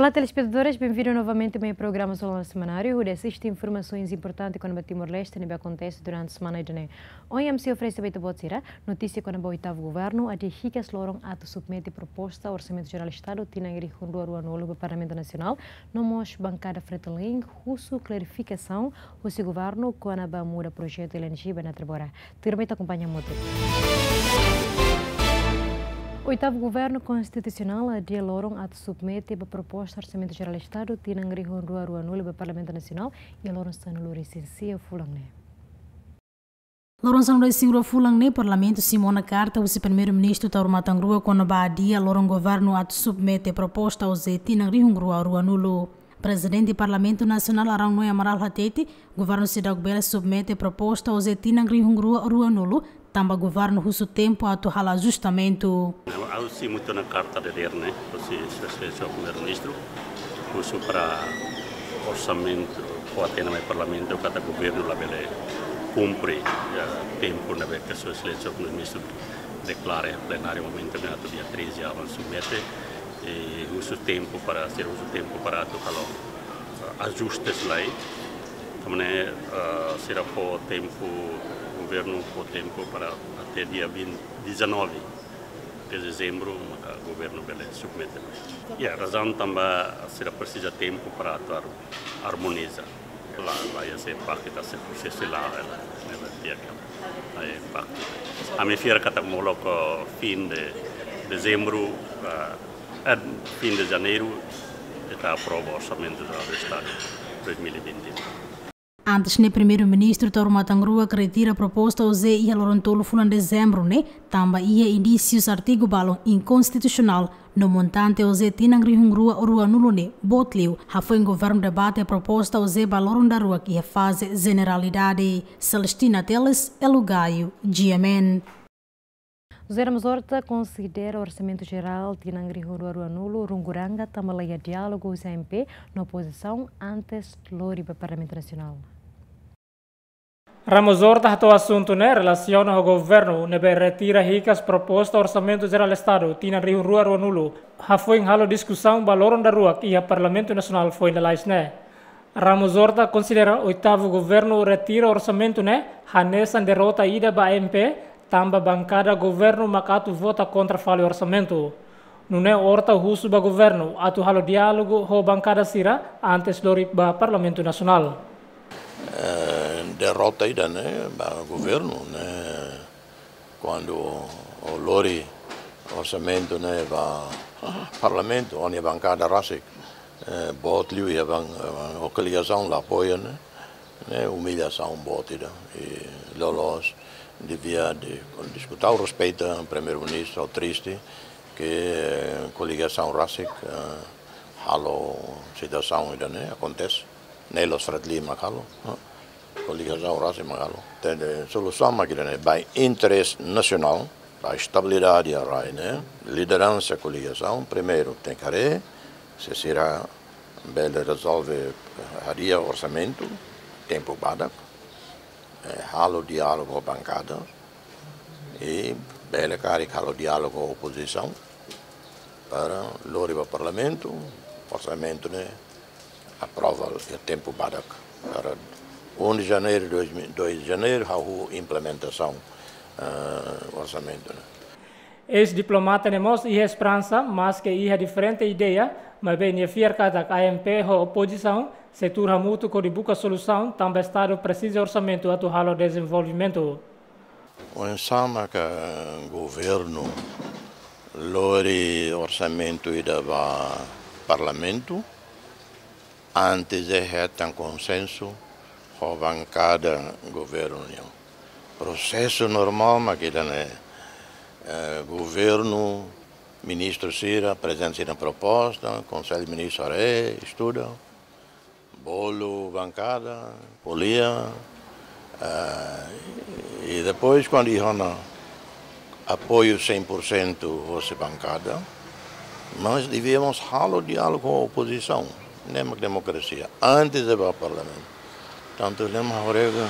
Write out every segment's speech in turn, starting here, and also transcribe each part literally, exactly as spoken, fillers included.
Olá, telespetadores, benvindu novamente ba programa Jornál Semanáriu, hodi asiste informasaun importante kona-ba Timor-Leste ne'ebé akontese durante semana ida-ne'e. Ohin ami sei oferese ba ita-boot sira notísia kona-ba oitavu governu adia hikas loron atu submete proposta Orsamentu Jerál Estadu tinan rihun rua ruanulu ba Parlamentu Nasionál, no mós bankada Fretilin husu klarifikasaun husi governu kona-ba muda projetu L N G ba Natrabora. Tuirmai ita akompaña hamutuk. Oitavu Governu Konstitusionál adia loron atu submete ba proposta Orsamentu Jerál Estadu tinan rihun rua ruanulu ba Parlamentu Nasionál iha loron sanulu-resin-sia fulan ne'e. Loron sanulu-resin-rua fulan ne'e, Parlamentu simu ona karta husi Primeiru-Ministru Taur Matan Ruak kona-ba adia loron governu atu submete proposta OJE tinan rihun rua ruanulu. Prezidente Parlamentu Nasionál Arão Noé Amaral hatete, governu seidauk bele submete proposta OJE tinan rihun rua ruanulu, tanba governu husu tempu atu halo ajustamentu. Ha'u simu tiha ona karta dadeer ne'e, husi Sua Exelénsia Primeiru-Ministru, husu para orsamentu fó hatene mai Parlamentu katak governu labele kumpre, ya, tempu ne'ebé ke Sua Exelénsia Primeiru-Ministru deklara iha plenáriu momentu ne'e atu dia treze aban submete, i husu tempu para, sira husu tempu para atu halo, eh, ajustes lai. Tanba ne'e, eh, sira fó tempu, governu fó tempu para até dia vinte, dezanove de dezembru, maka governu bele submete. Ya, razaun tanba sira presiza tempu para atu ar-, armoniza. La, la iha se impakta, se prosesu la, la, ne'e la iha ke, la iha impaktu. Ami fiar katak molok fim de dezembru, ah, eh, fim de janeiru, ita aprova Orsamentu Jerál Estadu dois mil e vinte. Antes ne'e, Primeiru-Ministru Taur Matan Ruak retira proposta OJE iha loron tolu fulan dezembru ne'e, tanba iha indísius artigu balun inkonstitusionál, no montante OJE tinan rihun rua ruanulu ne'e boot liu, hafoin governu debate proposta OJE ba loron daruak iha faze jeneralidade. Celestina Teles, Elo Gaio, G M N. José Ramos Horta konsidera Orsamentu Jerál tinan rihun rua ruanulu runguranga tanba la iha diálogu husi A M P no opozisaun antes lori ba Parlamentu Nasionál. Ramos Horta hato'o asuntu ne'e relasiona ho governu ne'ebé retira hikas proposta Orsamentu Jerál Estadu tinan rihun rua ruanulu, hafoin halo diskusaun ba loron daruak iha Parlamentu Nasionál foin lalais ne'e. Ramos Horta konsidera oitavu governu retira orsamentu ne'e hanesan derrota ida ba A M P, tanba bankada governu mak atu vota kontra fali orsamentu. Nune'e Horta husu ba governu atu halo diálogu ho bankada sira antes lori ba Parlamentu Nasionál. Eh, derrota ida ne'e ba governu ne'e, kuandu o lori orsamentu ne'e ba Parlamentu, o-nia bankada rasik, eh, boot liu iha ban-, eh, o koligasaun la apoia ne'e, ne'e umillasaun boot ida. I loloos devia de, diskutaun respeita Primeiru-Ministru, triste ke koligasaun rasik, eh, halo situasaun ida ne'e akontese. Ne'e la'ós Fretilin mak halo, eh, koligasaun rasik mak halo. Tende solusaun mak ida ne'e, ba interese nasionál, ba estabilidade iha rai ne'e, lideransa koligasaun primeiru tenke haree se sira bele rezolve, eh, hadi'a orsamentu tempu badak, eh, halo diálogu ho bankada, i bele karik halo diálogu ho opozisaun para lori ba Parlamentu orsamentu ne'e aprova iha tempu badak. Para um de janeiro, dois mil, dois de janeiro, hahú implementasaun, eh, orsamentu ne'e. Eis-diplomata ne'e mós iha esperansa, maske iha diferente ideia, maibé nia fiar katak A M P ho opozisaun sei tuur hamutuk hodi buka solusaun, tanba Estadu presiza orsamentu atu halo dezenvolvimentu. Oinsá mak governu lori orsamentu ida ba Parlamentu, antes de hetan konsensu ho bankada governu nian. Prosesu normál mak ida ne'e, eh, governu, ministru sira aprezenta sira-nia proposta, Konsellu Ministru haree, estuda, bolu bankada, ko'alia, eh, i depois kuandu iha ona apoiu cem por cento hosi bankada, mas devíamos halo diálogu ho opozisaun, ne'e mak demokrasia, antes de ba Parlamentu. Tantu lema horega,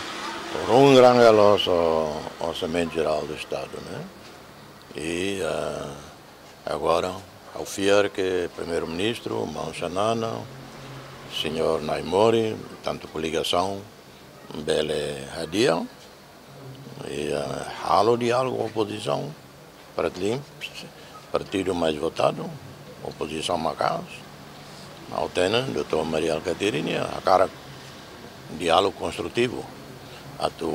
runguranga la'ós Orsamentu Jerál do Estadu, ne'e? I, eh, agora, Ha'u fiar ke Primeiru-Ministru, Maun Xanana, Señór Naimori, tantu koligasaun bele hadi'a, i, eh, halo diálogu ho opozisaun, para klin partidu mais votadu, opozisaun maka'as. Ha'u hatene, doutór Mari Alkatiri nia hakarak diálogu konstrutivu, atu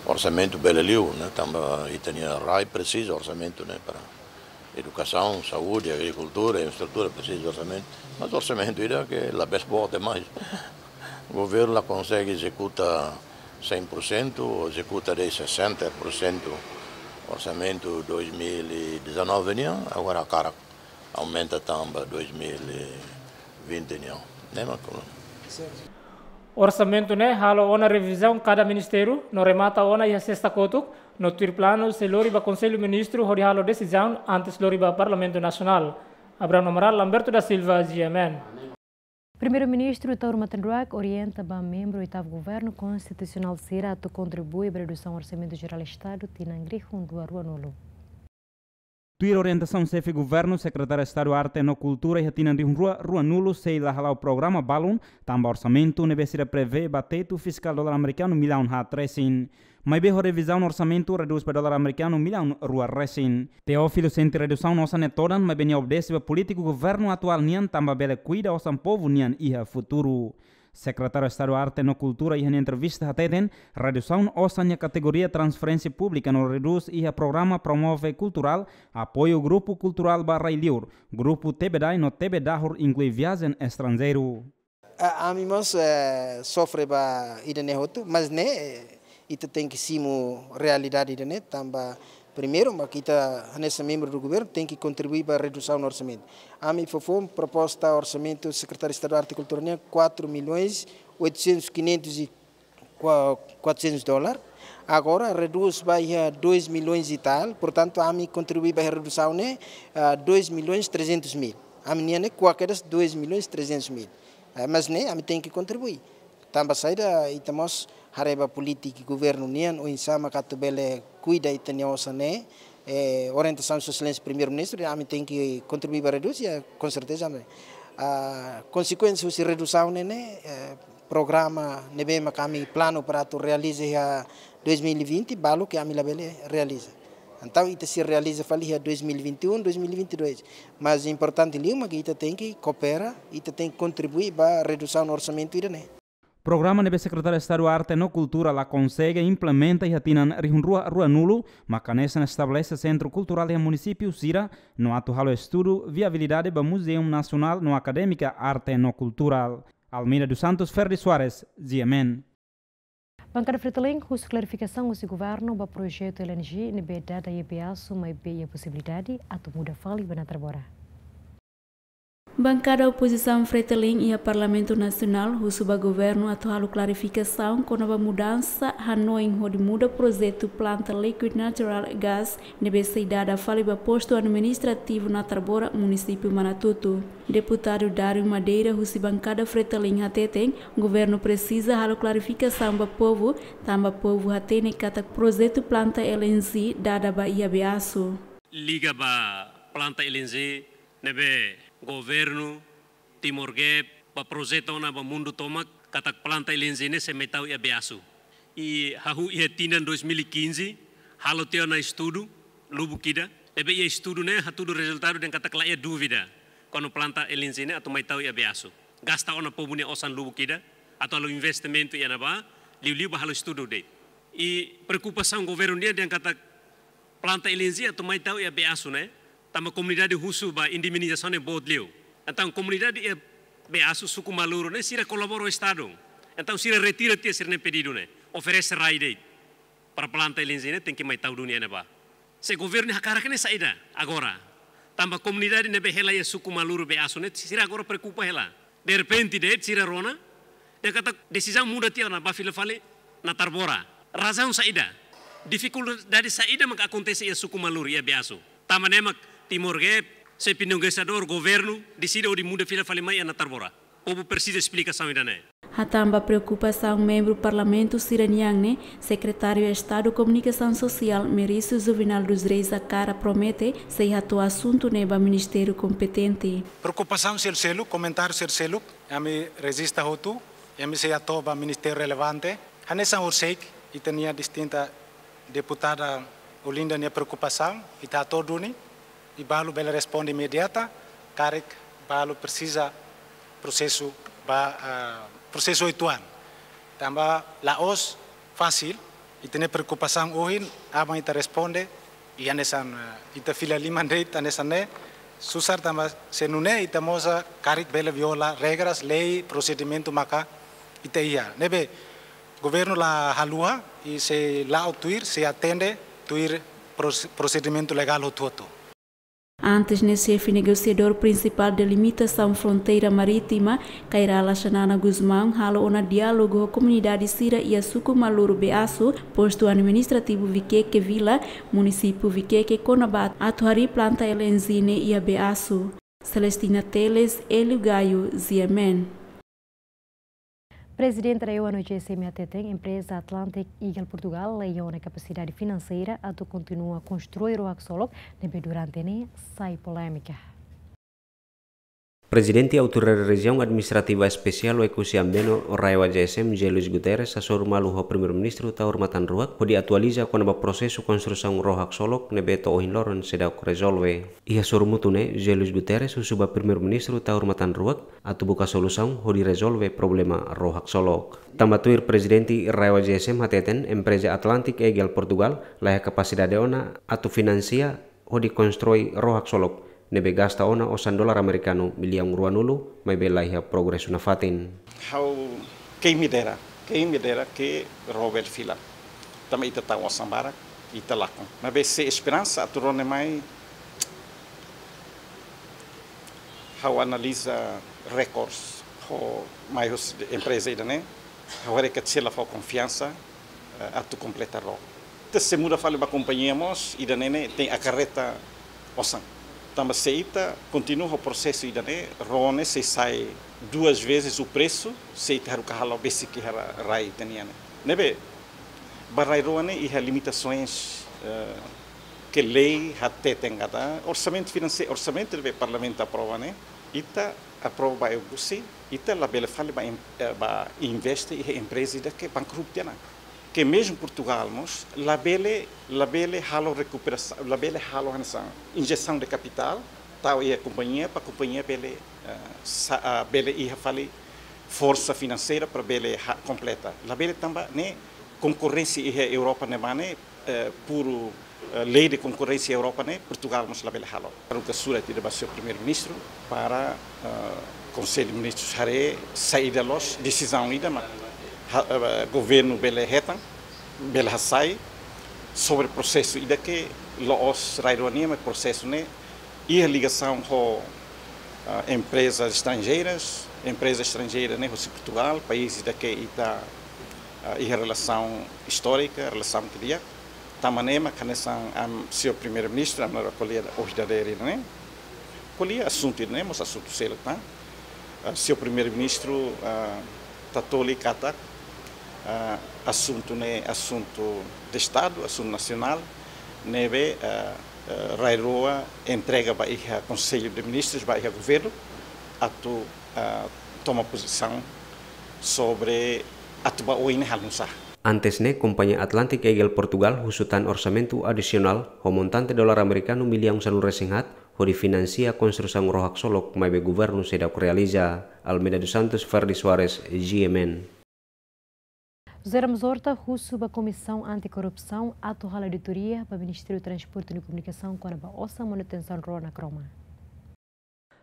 orsamentu bele liu, ne'e, tanba ita-nia rai presiza orsamentu ne'e para edukasaun, saúde, agrikultura, infraestrutura, presiza orsamentu. Mas orsamentu ida ke labele boot demais. Governu la konsege ezekuta cem por cento, ou ezekuta de'it sessenta por cento orsamentu dois mil e dezanove nian, agora hakarak aumenta tan ba dois mil e vinte nian. Ne'e mak. Orsamentu ne'e halo ona revizaun kada ministériu, no remata ona iha sesta kotuk, no tuir planu sei lori ba Konsellu Ministru hodi halo desizaun antes lori ba Parlamentu Nasionál. Abraham Amaral, Lamberto da Silva, G M N. Primeiru-Ministru Taur Matan Ruak orienta ba membru oitavu Governu Konstitusionál sira atu kontribui ba redusaun Orsamentu Jerál Estadu tinan rihun rua ruanulu. Tuir orientasaun Xefe Governu, Sekretáriu Estadu Arte no Kultura iha tinan rihun rua ruanulu sei la hala'o programa balun, tanba orsamentu ne'ebé sira prevee ba tetu fiskál dolar amerikanu millaun haat resin. Maibé ho revizaun orsamentu redús ba dolar amerikanu millaun rua resin. Teófilo sente redusaun osan ne'e todan, maibé nia obedese ba polítiku governu atuál nian tanba bele kuida osan povu nian iha futuru. Sekretáriu Estadu Arte no Kultura iha nia entrevista hateten, redusaun osan iha kategoria transferénsia públika no redús iha programa Promove Kulturál, apoiu grupu kulturál ba rai-liur, grupu Tebedai no Tebedahur, inklui viajen estranjeiru. A, ami mós, eh, sofre ba ida-ne'e hotu, mas ne'e, eh, ita tenke simu realidade ida-ne'e, tanba primeiru, mak ita hanesan membru do governu tenke kontribui ba redusaun orsamentu. Ami fó foun proposta orsamentu Sekretáriu Estadu Arte e Kultura nian quatro milhões oitocentos, quinhentos e qua-, quatrocentos dólar. Agora redús ba iha dois milhões e tal, portantu ami kontribui ba iha redusaun ne'e, ah, dois milhões trezentos mil. Ami-nian ne'e kuak kedas dois milhões trezentos mil. Eh, mas ne'e ami tenke kontribui. Tanba saida, ita mós haree ba polítika governu nian, oinsá mak atu bele kuida ita-nia osan ne'e, eh, orientasaun Sua Exelénsia Primeiru-Ministru, ami tenke kontribui ba redús, ya, com certeza, ami. Ah, konsekuénsia husi redusaun ne'e, ne'e, eh, programa ne'ebé mak ami planu para atu realiza iha dois mil e vinte, balu ke ami labele realiza. Entaun, ita sei realiza fali iha dois mil e vinte e um, dois mil e vinte e dois. Mas importante liu mak ita tenke koopera, ita tenke kontribui ba redusaun orsamentu ida-ne'e. Programa ne'ebé Sekretáriu Estadu Arte no Kultura la konsege implementa iha tinan rihun rua ruanulu, mak hanesan estabelese sentru kulturál iha munisípiu sira, no atu halo estudu viabilidade ba Muzeu Nasionál no Akadémika Arte no Kulturál. Almeida dos Santos, Ferdi Soares, G M N. Bankada Fretilin husu klarifikasaun husi governu ba projetu L N G ne'ebé dada iha Beasu, maibé iha posibilidade atu muda fali ba Natarbora. Bankada opozisaun Fretilin iha Parlamentu Nasionál husu ba governu atu halo klarifikasaun kona-ba mudansa hanoin hodi muda projetu planta liquid natural gas ne'ebé sei dada fali ba postu administrativu Natarbora, munisípiu Manatutu. Deputadu Dário Madeira husi bankada Fretilin hateten, governu presiza halo klarifikasaun ba povu, tanba povu hatene katak projetu planta L N G dada ba iha Beasu. Liga ba planta L N G ne'ebé governu Timor Gap ba projeta ona ba mundu tomak, katak planta L N G ne'e sei mai tau iha Beasu. I hahú iha tinan dois mil e quinze, halo tiha ona estudu lubuk ida. Ne'ebé iha estudu ne'e hatudu rezultadu dehan katak la iha dúvida kona-ba planta L N G ne'e atu mai tau iha Beasu. Gasta ona povu nia osan lubuk ida atu halo investimentu iha ne'ebá, liuliu ba halo estudu de'it. I preokupasaun governu nian dehan katak planta L N G atu mai tau iha Beasu ne'e, tanba komunidade husu ba indemnizasaun ne'e boot liu. Entaun komunidade iha Beasu, suku Maluru ne'e sira kolabora ho Estadu. Entaun sira retira tiha sira-nia pedidu ne'e, oferese rai de'it para planta L N G ne'e tenke mai tau duni iha ne'ebá. Se governu hakarak ne'e saida agora? Tanba komunidade ne'ebé hela iha suku Maluru, Beasu ne'e sira agora preokupa hela. Derrepente de'it sira rona, dehan katak desizaun muda tiha ona ba fila fali Natarbora. Razaun saida? Difikuldade saida mak akontese iha suku Maluru, iha Beasu? Tanba ne'e mak Timor Gap, C P N G, Estadu, governu deside hodi muda fila fali mai iha Natarbora. Povu presiza esplikasaun ida-ne'e. Hatán ba preokupasaun membru Parlamentu sira-nian ne'e, Sekretáriu Estadu Komunikasaun Sosiál, Merício Juvenal dos Reis Acara promete sei hato'o asuntu ne'e ba ministériu kompetente. Preokupasaun seluk-seluk, komentáriu seluk-seluk, ami rejista hotu, ami sei hato'o ba ministériu relevante. Hanesan horiseik, ita-nia distinta deputada Olinda nia preokupasaun, ita hato'o duni, i balu bele responde imediata, karik balu presiza prosesu ba, ah, prosesu uitoan. Tanba la'ós fasil, ita-nia preokupasaun ohin, aban ita responde, i hanesan, eh, ita fila liman de'it hanesan ne'e, susar tanba se nune'e ita mós karik bele viola regras, lei, prosedimentu maka ita iha. Ne'ebé, governu la haluha, i sei la'o tuir, sei atende tuir pros-, prosedimentu legál hotu-hotu. Antes ne'e, xefe negosiadór prinsipál delimitasaun fronteira marítima, Kay Rala Xanana Gusmão, halo ona diálogu ho komunidade sira iha suku Maluru Beaço, postu administrativu Viqueque Vila, munisípiu Viqueque, kona-ba atu harii planta L N G ne'e iha Beaço. Celestina Teles, Hélio Gaio, G M N. Prezidente RAEOA no G S M hateten, empreza Atlantic Eagle Portugal laiha ona kapasidade finanseira atu kontinua konstrui ró haksolok ne'ebé durante ne'e sai polémika. Prezidente Autoridade Rejiaun Administrativa Espesiál Oekusi Ambeno, RAEOA G S M, José Luís Guterres, hasoru malu ho Primeiru-Ministru Taur Matan Ruak, hodi atualiza kona-ba prosesu konstrusaun ró haksolok ne'ebé to'o ohin loron seidauk rezolve. Iha sorumutu ne'e, José Luís Guterres husu ba Primeiru-Ministru Taur Matan Ruak atu buka solusaun hodi rezolve problema ró haksolok. Tanba tuir Prezidente RAEOA G S M hateten, empreza Atlantic Eagle Portugal laiha kapasidade ona atu finansia hodi konstrui ró haksolok ne'ebé gasta ona osan dolar amerikanu millaun ruanulu, maibé laiha progresu nafatin. Ha'u, quem me dera, quem me dera ke ró bele fila. Tanba ita tau osan barak, ita lakon. Maibé se esperansa atu ró ne'e mai, ha'u analiza records ho mai husi empreza ida-ne'e, ha'u haree katak sira la fó konfiansa, eh, atu kompleta ró. Ita se muda fali ba kompañia mós, ida-ne'e ne'e tenke akarreta osan. Tanba se ita kontinua ho prosesu ida-ne'e, ró ne'e sei sai duas vezes o preço, se ita haruka halo besik iha rai ita-nian ne'e. Ne'ebé, ba rai rua ne'e iha limitasoens, eh, ke lei hateten katak orsamentu finanse-, orsamentu ne'ebé Parlamentu aprova ne'e, ita aprova ba Oekusi, ita labele fali ba em-, eh, ba investe iha empreza ida ke bankrutu tiha ona. Ke mezmu Portugal mós, labele, labele halo rekuperasaun, labele halo hanesan injesaun de kapitál, tau iha kompañia, para kompañia bele, eh, sa-, ah, bele iha fali forsa finanseira para bele ha-, kompleta. Labele tanba ne'e konkorrénsia iha Europa ne'ebá ne'e, eh, puru, eh, lei de konkorrénsia Europa ne'e, Portugal mós labele halo. Haruka surat ida ba señór Primeiru-Ministru para, eh, Konsellu Ministrus haree saida loos desizaun ida mak ha-, eh, governu bele hetan, bele hasai sobre prosesu ida ke la'ós rai rua nian, maibé prosesu ne'e iha ligasaun ho, ah, emprezas estranjeiras, empreza estranjeira ne'e husi Portugal, país ida ke ita, ah, iha relasaun istórika, relasaun ke di'ak. Tanba ne'e mak hanesan ami, señór Primeiru-Ministru, ami ko'alia ohin dadeer ne'e, ko'alia asuntu ne'e, mós asuntu seluk tan. Ah, señór Primeiru-Ministru, ah, tatoli katak, ah, asuntu ne'e asuntu de Estadu, asuntu nasionál, ne'ebé, ah, eh, rai rua entrega ba iha Konsellu de Ministrus, ba iha governu, atu, eh, toma pozisaun sobre atu ba oin ne'e halo nusá. Antes ne'e, kompañia Atlantic Eagle Portugal husu tan orsamentu adisionál ho montante dolar amerikanu millaun sanulu-resin-haat, hodi finansia konstrusaun ró haksolok, maibé governu seidauk realiza. Almeida dos Santos, Ferdi Soares, G M N. José Ramos Horta husu ba Komisaun Antikorrupsaun atu halo auditoria ba Ministériu Transporte no Komunikasaun kona-ba osan manutensaun ró na Kroma.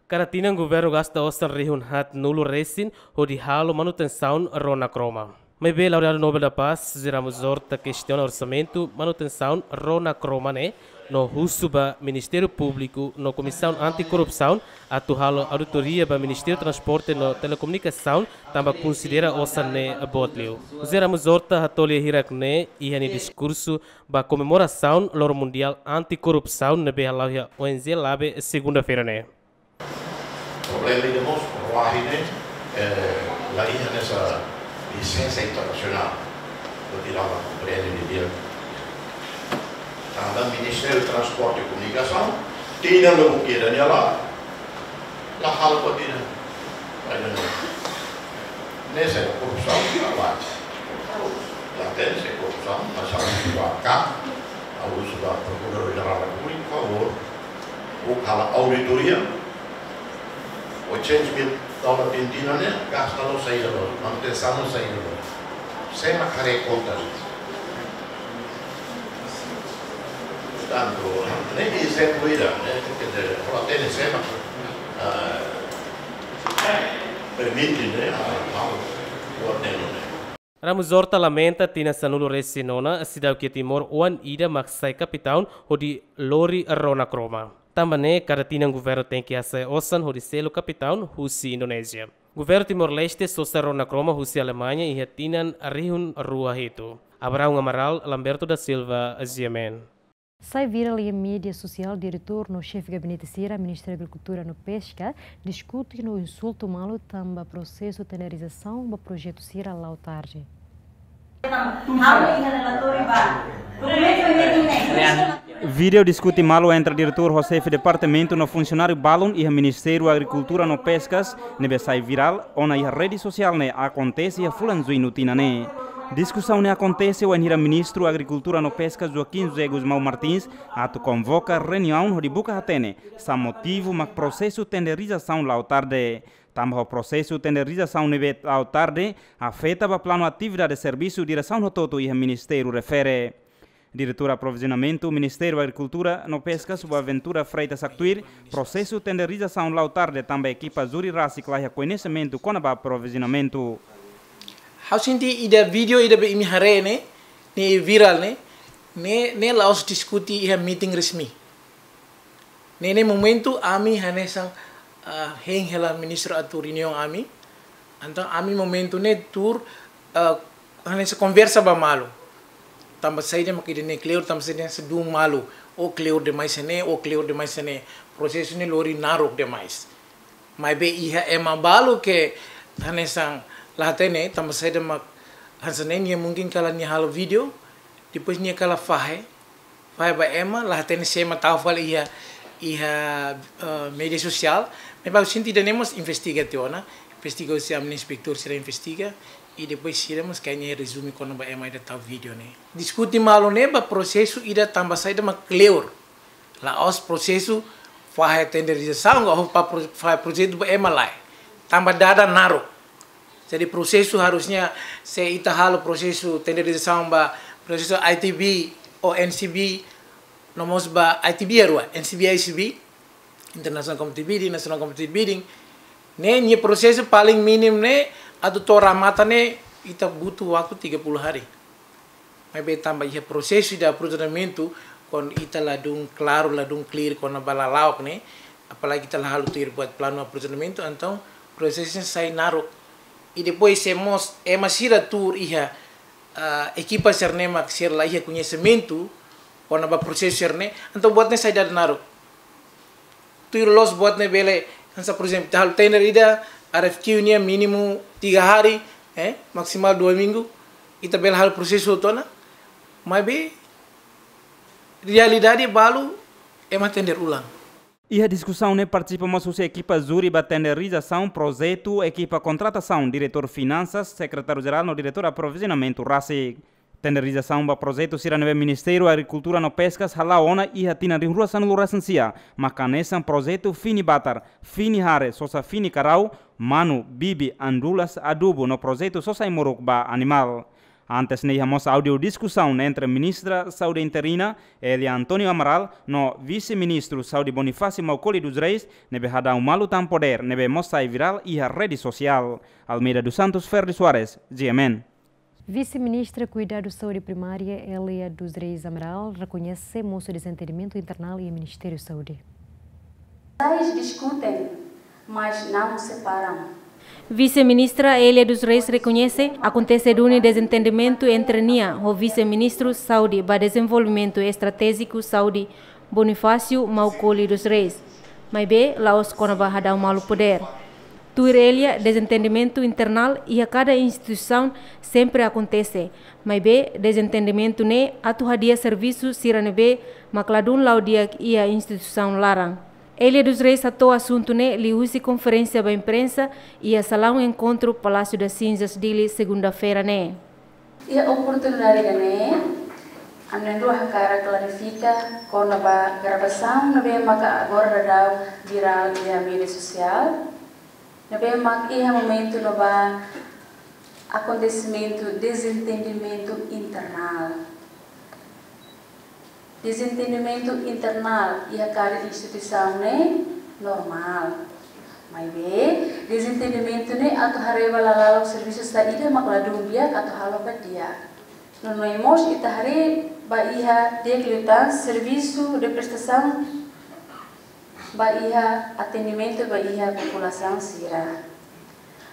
Kada tinan governu gasta osan rihun haatnulu-resin hodi halo manutensaun ró na Kroma. Maibé laureadu Nobel da Paz, José Ramos Horta kestiona orsamentu manutensaun ró na Kroma ne'e, no husu ba Ministériu Públiku no Komisaun Antikorrupsaun atu halo auditoria ba Ministériu Transporte no Telekomunikasaun, tanba konsidera osan ne'e boot liu. José Ramos Horta hato'o lia hirak-ne'e iha nia diskursu ba komemorasaun Loron Mundiál Antikorrupsaun ne'ebé hala'o iha O N G Labe, segunda-feira ne'e. Problema ida mós, ró ne'e, Eh, la iha hanesan lisensa internasionál, hodi la komprende didi'ak. Tanba Ministériu Transporte i Komunikasaun, tinan lubuk ida nia la, la halo buat ida. Ida-ne'e, ne'e sai korrupsaun, la. La hatene sai korrupsaun, mas ha'u husu ba K, ha'u husu ba Prokuradór Jerál Repúblika, favór, buka halo auditoria, oitocentos mil dólar tinan-tinan ne'e, gasta loos saida loos, manutensaun loos saida loos. Sé mak haree konta. Portantu, ne'e ezemplu ida, ne'e, quer dizer, ora tem sé mak, ah, permite, ne'e, a, a, o ordeno, ne'e. Ramos Horta lamenta tinan sanulu-resin-nona, seidauk iha Timor oan ida mak sai kapitaun hodi lori rona kroma. Tanba ne'e, kada tinan governu tenke hasa'e osan hodi selu kapitaun husi Indonézia. Governu Timor-Leste sosa rona kroma husi Alemaña iha tinan rihun rua hitu. Abraão Amaral, Lamberto da Silva, G M N. Sai virál iha média sosiál diretór no xefe gabinete sira Ministériu Agrikultura no Peska diskute no insultu malu tanba prosesu tenderizasaun ba projetu sira la'o tarde. Vídeo diskute malu entre diretór ho xefe departamentu no funsionáriu balun iha Ministériu Agrikultura no Peskas ne'ebé sai virál ona iha rede sosiál ne'e akontese iha fulan Juñu tinan ne'e. Diskusaun ne'e akontese wainhira Ministru Agrikultura no Peskas Joaquim José Gusmão Martins atu konvoka reuniaun hodi buka hatene sá motivu mak prosesu tenderizasaun la'o tarde. Tanba ho prosesu tenderizasaun ne'ebé la'o tarde afeta ba planu atividade servisu diresaun hotu-hotu iha ministériu refere. Diretór Aprovizionamentu Ministériu Agrikultura no Peskas, Boaventura Freitas haktuir, prosesu tenderizasaun la'o tarde tanba ekipa júri rasik la iha koñesimentu kona-ba aprovizionamentu. Ha'u sente ida vídeo ida be imi haree ne'e, ne'e virál ne'e, ne'e, ne'e la'ós diskute iha meeting resmi. Ne'e, ne'e momentu ami hanesan, ah, hein hela ministru atu reuniaun ami. Entaun ami momentu ne'e tuur, ah, hanesan konversa ba malu. Tanba saida mak ida-ne'e kleur, tanba saida mak dún malu. Ó kleur demais iha ne'e, ó kleur demais iha ne'e. Prosesu ne'e lori naruk demais. Maibé iha ema balu ke hanesan la hatene, tanba saida mak hanesan ne'e nia mungkin kala nia halo vídeo, depois nia kala fahe, fahe ba ema, la hatene sé mak tau fali iha, iha, eh, média sosiál, maibé ha'u sente ida-ne'e mós investiga tiha ona, investiga husi ami-nia inspektór sira investiga, i depois sira mós kaer nia rezume kona-ba ema ida tau vídeo ne'e. Diskute malu ne'e ba prosesu ida tanba saida mak kleur. La'ós prosesu fahe tenderizasaun, ka ho pa pro-, fahe projetu ba ema lae. Tanba dada naruk. Jadi prosesu harusnya se ita halo prosesu tenderizasaun ba prosesu I T B ou N C B, no mós ba I T B ya rua, N C B, I C B, International Competitive Bidding, National Competitive Bidding. Ne'e nia prosesu paling mínimu ne'e atu to'o remata ne'e ita butuh waktu tiga puluh hari. Maibé tanba iha prosesu de aprovizionamentu, kuandu ita ladún klaru, ladún clear kona-ba lala'ok ne'e, apalagi ita la halo tuir buat planu aprovizionamentu, entaun prosesu sai naruk. I depois se mós ema sira tuur iha, ah, ekipa sira-ne'e mak sira la iha koñesimentu kona-ba prosesu sira-ne'e, entaun buat ne'e sai dada naruk. Tuir loos buat ne'e bele, hanesan, por ezemplu, ita halo tender ida, R F Q nian mínimu tiga hari, eh, maksimal dua minggu, ita bele halo prosesu hotu ona, maibé realidade balu ema tender ulang. Iha diskusaun ne'e partisipa mós husi ekipa júri ba tenderizasaun projetu, ekipa kontratasaun, diretór finansas, sekretáriu jerál no diretór aprovizionamentu rasik. Tenderizasaun ba projetu sira ne'ebé Ministériu Agrikultura no Peskas hala'o ona iha tinan rihun rua sanulu-resin-sia, mak hanesan projetu fini batar, fini hare, sosa fini karau, manu, bibi, andulas, adubu no projetu sosa ai-moruk ba animál. Antes ne'e iha mós áudiu diskusaun entre Ministra Saúde interina, Elia António Amaral, no Vise-Ministru Saúde Bonifácio Maukoli dos Reis, ne'ebé hadau malu tan podér, ne'ebé mós sai virál iha rede sosiál. Almeida dos Santos, Ferdi Soares, G M N. Vise-Ministra Kuidadu Saúde Primária, Elia dos Reis Amaral, rekoñese mosu dezentendimentu internál iha Ministériu Saúde. Eles discutem, mas não se param. Vise-Ministra Elia dos Reis rekoñese akontese duni dezentendimentu entre nia ho Vise-Ministru Saúde ba Dezenvolvimentu Estratéjiku Saúde, Bonifácio Maukoli dos Reis. Maibé la'ós kona-ba hadau malu podér. Tuir Elia, dezentendimentu internál iha kada instituisaun sempre akontese. Maibé, dezentendimentu ne'e atu hadi'a servisu sira ne'ebé mak ladún la'o di'ak iha instituisaun laran. Elia dos Reis hato'o asuntu ne'e liuhusi konferénsia ba imprensa iha salaun enkontru Palácio das Cinzas, Dili, segunda-feira ne'e. Iha oportunidade ida-ne'e, ami na'in-rua hakarak klarifika kona-ba gravasaun ne'ebé maka agora daudaun virál iha média sosiál, ne'ebé mak iha momentu ne'ebá akontesimentu dezentendimentu internál. Dezentendimentu internál iha kada instituisaun ne'e normál. Maibé, dezentendimentu ne'e atu haree ba lala'ok servisu saida mak ladún di'ak atu halo ba di'ak. No, no mós ita haree ba iha di'ak liután servisu de prestasaun ba iha atendimentu ba iha populasaun sira.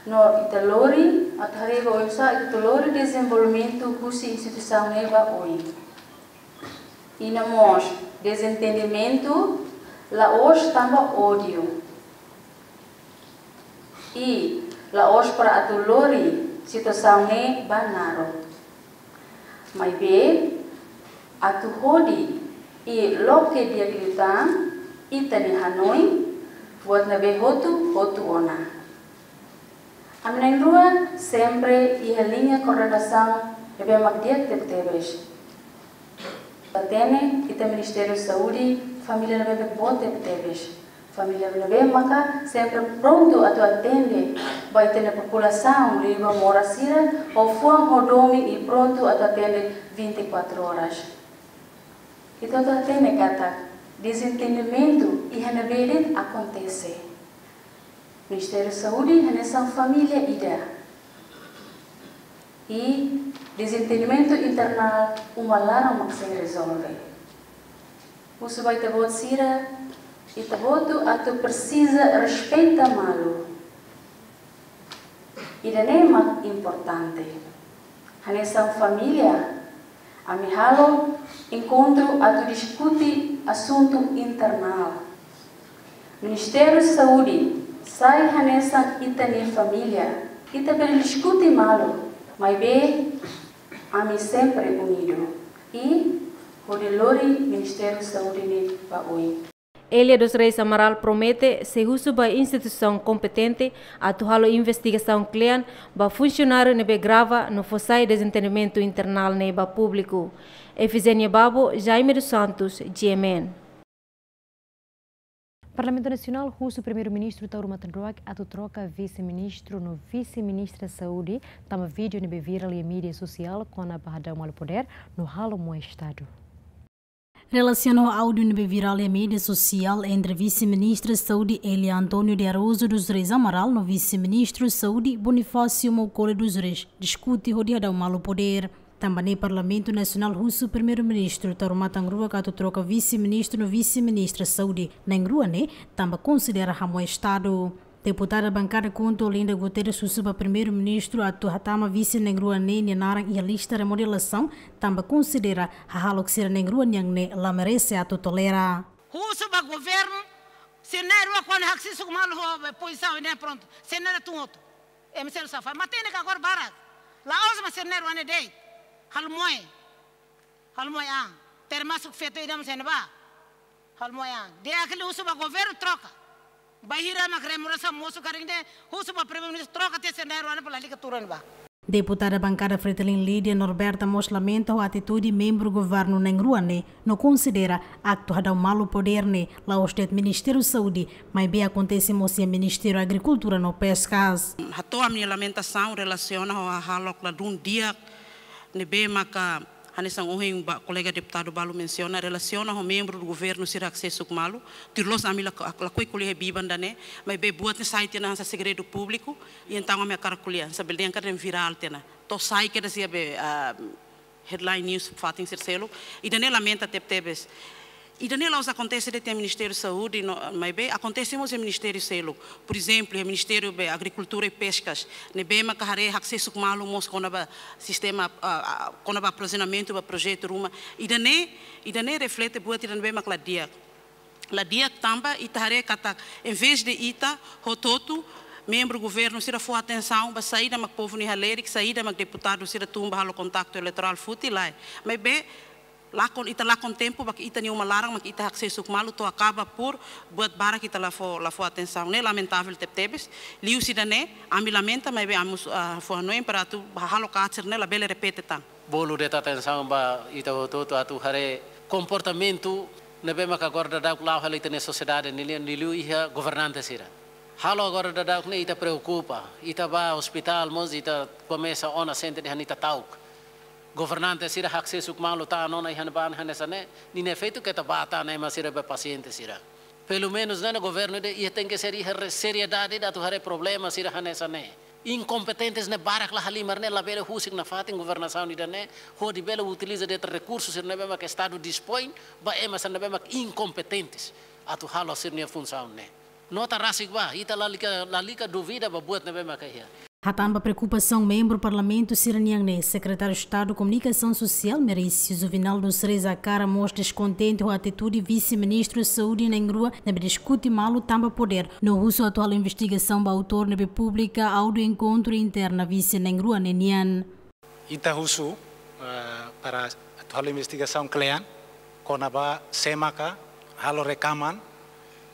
No ita lori, atu haree ba oinsá ita atu lori dezenvolvimentu husi instituisaun ne'e ba oin. I no mós, dezentendimentu la'ós tanba ódiu. I la'ós para atu lori situasaun ne'e ba naruk. Maibé, atu hodi i loke di'ak liután ita-nia hanoin, buat ne'ebé hotu, hotu ona. Ami na'in-rua sempre iha liña koordenasaun ne'ebé mak di'ak tebetebes. Ita hatene, ita Ministériu Saúde, família ne'ebé boot tebetebes. Família ne'ebé maka sempre prontu atu atende ba ita-nia populasaun, liuliu ba moras sira, ho fuan, ho domin i prontu atu atende vinte e quatro horas. Ita atu hatene katak dezentendimentu iha ne'ebé de'it akontese. Ministériu Saúde hanesan família ida. I dezentendimentu internál uma laran mak sei rezolve. Husu ba ita-boot sira, ita-boot atu presiza respeita malu. Ida-ne'e mak importante. Hanesan família, ami halo enkontru atu diskute asuntu internál. Ministériu Saúde sai hanesan ita-nia família. Ita bele diskute malu, maibé ami sempre unidu. I hodi lori Ministériu Saúde ne'e ba oin. Elia dos Reis Amaral promete sei husu ba instituisaun kompetente atu halo investigasaun kle'an ba funsionáriu ne'ebé grava no fó sai dezentendimentu internál ne'e ba públiku. Efigénia Babo, Jaime dos Santos, G M N. Parlamentu Nasionál husu Primeiru-Ministru Taur Matan Ruak atu troka Vise-Ministru no Vise-Ministra Saúde, tanba vídeo ne'ebé virál iha média sosiál kona-ba hadau malu podér no halo moe Estadu. Relasiona ho áudiu ne'ebé virál iha média sosiál entre Vise-Ministra Saúde Elia António de Araújo dos Reis Amaral no Vise-Ministru Saúde Bonifácio Maukole dos Reis, diskute hodi hadau malu podér. Tanba ne'e Parlamentu Nasionál husu Primeiru-Ministru Taur Matan Ruak atu troka Vise-Ministru no Vise-Ministra Saúde na'in-rua ne'e, tanba konsidera hamoe Estadu. Deputada bankada KHUNTO Olinda Guterres husu ba Primeiru-Ministru atu hatama vise na'in-rua ne'e nia naran iha lista remodelasaun, tanba konsidera hahalok sira na'in-rua nian ne'e la merese atu tolera. Husu ba governu, sira na'in-rua kuandu haksesu malu ho pozisaun ne'e prontu, sira na'in-rua tun hotu. Ema sira safai, matenek agora barak. La'ós mak sira na'in-rua ne'e de'it. Halo moe. Halo moe an. Termasuk feto ida mós iha ne'ebá. Halo moe an. Di'ak liu husu ba governu troka. Bainhira mak remunerasaun mosu karik ne'e, husu ba Primeiru-Ministru troka tiha sira na'in-rua ne'e para lalika tuur iha ne'ebá. Deputada bankada Fretilin Lídia Norberta mós lamenta ho atitude membru governu na'in-rua ne'e, no konsidera aktu hadau malu podér ne'e la'ós de'it Ministériu Saúde, maibé akontese mós iha Ministériu Agrikultura no Peskas. Hato'o ami-nia lamentasaun relasiona ho hahalok ladún di'ak ne'ebé maka hanesan ohin ba kolega deputadu balu mensiona, relasiona ho membru do governu sira haksesu malu, tuir loos ami la, lakohi ko'alia iha biban ida-ne'e, maibé buat ne'e sai tiha ona hanesan segredu públiku, i entaun ami hakarak ko'alia, hanesan bele dehan katak virál tiha ona. To'o sai kedas iha be, ah, headline news fatin sira seluk, ida-ne'e lamenta tebetebes. Ida-ne'e la'ós akontese de'it iha Ministériu Saúde, no, maibé akontese mós iha ministériu seluk. Por ezemplu, iha Ministériu be Agrikultura i Peskas, ne'ebé maka haree haksesu malu mós kona-ba sistema, ah, ah, kona-ba aprovizionamentu ba projetu ruma. Ida-ne'e, ida-ne'e reflete buat ida ne'ebé mak la di'ak. La di'ak tanba ita haree katak, envezde ita hotu-hotu, Membru governu sira fó atensaun ba saida mak povu nia halerik, saida mak deputadu sira tun ba halo kontaktu eleitorál foti, lae. Maibé lakon, ita lakon tempu ba ita-nia uma laran mak ita haksesuk malu to'o akaba por buat barak ita la fó, la fó atensaun. Ne'e lamentavel tebetebes. Liuhusi ida-ne'e, ami lamenta, maibé ami mós, ah, fó hanoin para atu halo katak ne'e labele repete tan. Bolu de'it atensaun ba ita hotu-hotu atu haree komportamentu ne'ebé maka agora daudaun la'o hela ita-nia sosiedade nia lian, liuliu iha governante sira. Halo agora daudaun ne'e ita preokupa, ita bá ospitál mós ita komesa ona sente dehan ita ta'uk. Governante sira haksesuk malu ta'uk ona iha ne'ebá hanesan ne'e, nia efeitu keta bá tan ema sira ba pasiente sira. Pelumenus ne'e governu ida iha tenke ser iha re-, seriedade ida atu haree problema sira hanesan ne'e. Inkompetentes ne'e barak la halimar ne'e labele husik nafatin governasaun ida-ne'e, hodi bele utiliza de'it rekursu sira ne'ebé mak estadu dispoin ba ema sira ne'ebé mak inkompetentes atu halo sira-nia funsaun ne'e. Nota rasik ba, ita lalika, lalika duvida ba buat ne'ebé maka iha. Hatán ba preokupasaun membru parlamentu sira-nian ne'e, Sekretáriu Estadu Komunikasaun Sosiál Merício Juvenal dos Reis Acara mós deskontente ho atitude Vise-Ministru Saúde na'in-rua ne'ebé diskute malu tanba podér, no husu atu halo investigasaun ba autór ne'ebé publika áudiu enkontru interna vise na'in-rua ne'e nian. Ita husu, eh, para atu halo investigasaun kle'an kona-ba sé maka halo rekaman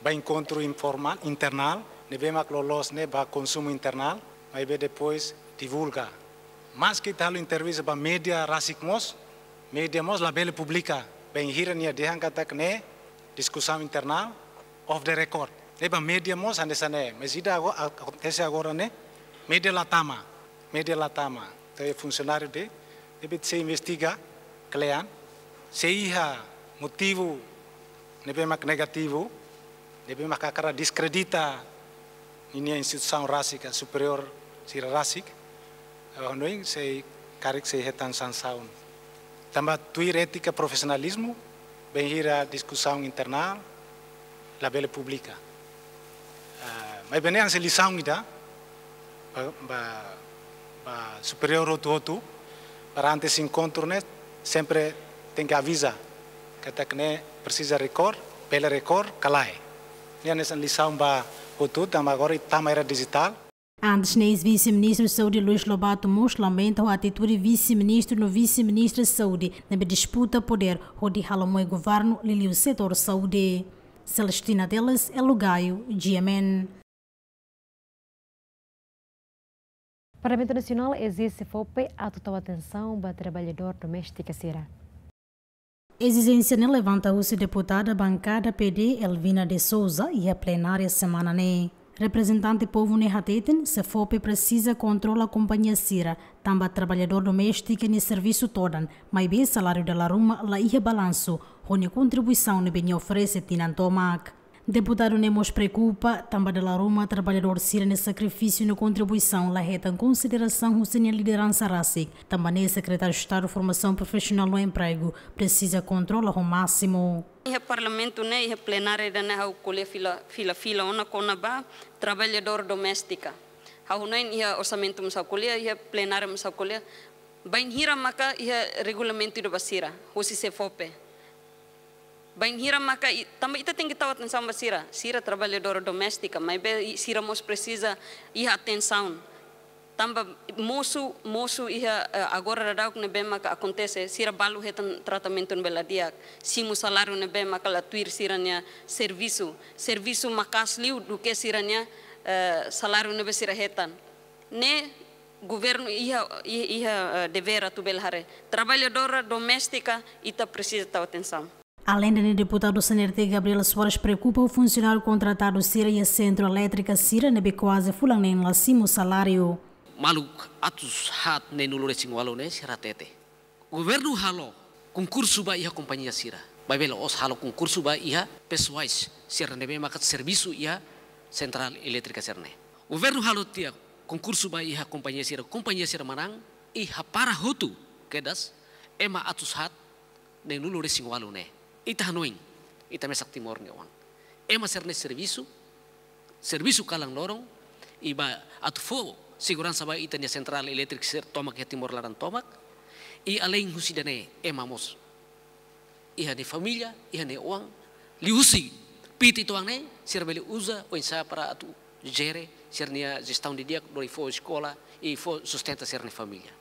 ba enkontru informál, internál, ne'ebé mak loloos ne'e ba konsumu internál, maibé depois divulga. Maske ita halo entrevista ba média rasik mós, média mós labele publika, bainhira nia dehan katak ne'e diskusaun internál, off the record. Ne'e ba média mós hanesan ne'e, mas ida ago-, a-, akontese agora ne'e, média la tama, média la tama. Entaun funsionáriu ida deve ser investiga kle'an, se iha motivu ne'ebé mak negativu, ne'ebé mak hakarak deskredita ninia instituisaun rasik, superiór sira rasik, eh, hanoin sei karik sei hetan sansaun. Tanba tuir étika profisionalizmu, bainhira diskusaun internál labele publika. Ah, maibé ne'e hanesan lisaun ida ba, ba, ba superiór hotu-hotu, para antes enkontru ne'e sempre tenke aviza katak ne'e presiza record, bele record ka lae. Ne'e hanesan lisaun ba hotu, tanba agora tama era dijitál. Antes ne'e, eis-Vise-Ministru Saúde Luís Lobato mós lamenta ho atitude Vise-Ministru no Vise-Ministra Saúde ne'ebé disputa podér hodi halo moe governu liuliu setór saúde. Celestina Teles, Elo Gaio, G M N. Parlamentu Nasionál ezije SEFOPE atu tau atensaun ba traballadór doméstika sira. Ezijénsia ne'e levanta husi deputada bankada P D Elvina de Souza iha plenária semana ne'e. Reprezentante povu ne'e hateten, SEFOPE presiza kontrola kompañia sira, tanba traballadór doméstika nia servisu todan, maibé saláriu dala ruma la iha balansu, ho nia kontribuisaun ne'ebé nia oferese tinan tomak. Deputadu ne'e mós preokupa, tanba dala ruma traballadór sira-nia sakrifísiu no kontribuisaun la hetan konsiderasaun husi nia lideransa rasik, tanba ne'e Sekretáriu Estadu Formasaun Profisionál no Empregu presiza kontrola ho másimu. Iha Parlamentu ne'e, iha plenária ida-ne'e ha'u ko'alia fila, fila, fila ona kona-ba traballadór doméstika. Ha'u hanoin iha orsamentu mós ha'u ko'alia, iha plenária mós ha'u ko'alia. Bainhira maka iha regulamentu ida ba sira, husi SEFOPE. Bainhira maka i-, tanba ita tenke tau atensaun ba sira, sira traballadór doméstika, maibé i-, sira mós presiza iha atensaun. Tanba mosu, mosu iha, eh, agora daudauk ne'ebé maka akontese, sira balu hetan tratamentu ne'ebé la di'ak, simu saláriu ne'ebé maka la tuir sira-nia servisu, servisu maka'as liu duké sira-nia, eh, saláriu ne'ebé sira hetan. Ne'e governu iha, iha, iha, eh, devér atu bele haree. Traballadora doméstika ita presiza tau atensaun. Aleinde ne'e, deputadu C N R T Gabriel Soares preokupa ho funsionáriu kontratadu sira iha sentru elétrika sira ne'ebé kuaze fulan neen la simu saláriu. Maluk atus haat neen-nulu-resin-ualu ne'e sira hatete. Governu halo konkursu ba iha kompañia sira. Maibé la'ós halo konkursu ba iha pesoais sira ne'ebé maka servisu iha sentrál elétrika sira-ne'e. Governu halo tiha konkursu ba iha kompañia sira, kompañia sira manán, i hapara hotu kedas ema atus haat neen-nulu-resin-ualu ne'e. Ita hanoin, ita mesak Timor nia oan. Ema sira-ne'e servisu, servisu kalan loron, i ba atu fó seguransa ba ita-nia sentrál elétrika sira tomak iha Timor laran tomak, i alein husi ida-ne'e ema mós iha nia família, iha nia oan, liuhusi piti toan ne'e, sira bele uza oinsá para atu jere sira-nia jestaun didi'ak, lori fó eskola i fó sustenta sira-nia família.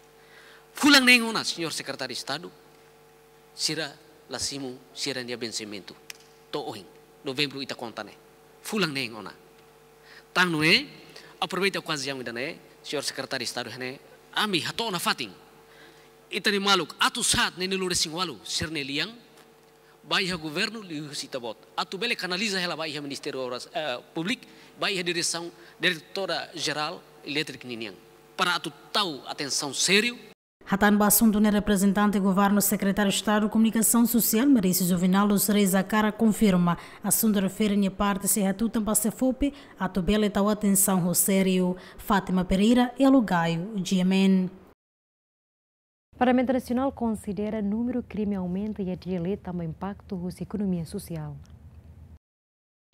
Fulan neen ona, Señór Sekretáriu Estadu, sira la simu sira-nia vensimentu. To'o ohin, Novembru ita konta ne'e. Fulan neen ona. Tan ne'e, aproveita okaziaun ida-ne'e, Señór Sekretáriu Estadu, ne'e, ami hato'o nafatin ita-nia maluk atus haat neenulu-resin-ualu sira-nia lian, ba iha governu liuhusi Ita-Boot. Atu bele kanaliza hela ba iha Ministériu Obras, eh, Públiku, ba iha diresaun Diretora Jerál Elétrika ninian. Para atu tau atensaun sériu. Hatán ba asuntu ne'e reprezentante governu, Sekretáriu Estadu Komunikasaun Sosiál, Maurício Juvenal dos Reis Acara, konfirma asuntu refere nia parte sei hatutan ba SEFOPE atu bele tau atensaun ho sériu. Fátima Pereira, Elo Gaio, G M N. Parlamentu Nasionál konsidera númeru krime aumenta iha Dili tanba impaktu husi ekonomia sosiál.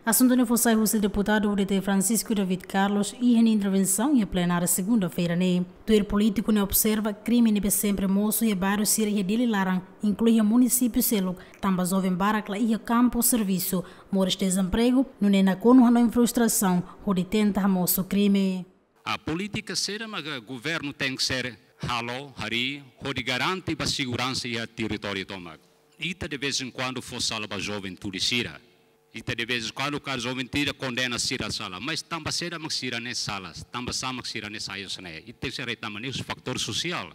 Asuntu ne'e fó sai husi deputadu U D T Francisco David Carlos iha nia intervensaun iha plenária segunda-feira ne'e. Tuir polítiku ne'e observa krime ne'ebé sempre mosu iha bairru sira iha Dili laran, inklui iha munisípiu seluk, tanba joven barak la iha kampu servisu, moris dezempregu, nune'e nakonu hanoin frustrasaun hodi tenta hamosu krime. A polítika saida mak governu tenke ser halo, harii, hodi garante ba seguransa iha territóriu tomak. Ita de vez em quando fó sala ba juventude sira. Ita de vez em quando kaer juventude kondena sira sala. Mas tanba saida mak sira-ne'e sala, tanba sá mak sira-ne'e sai husi ne'e. Ita sei haree tanba ne'e husi fatór sosiál.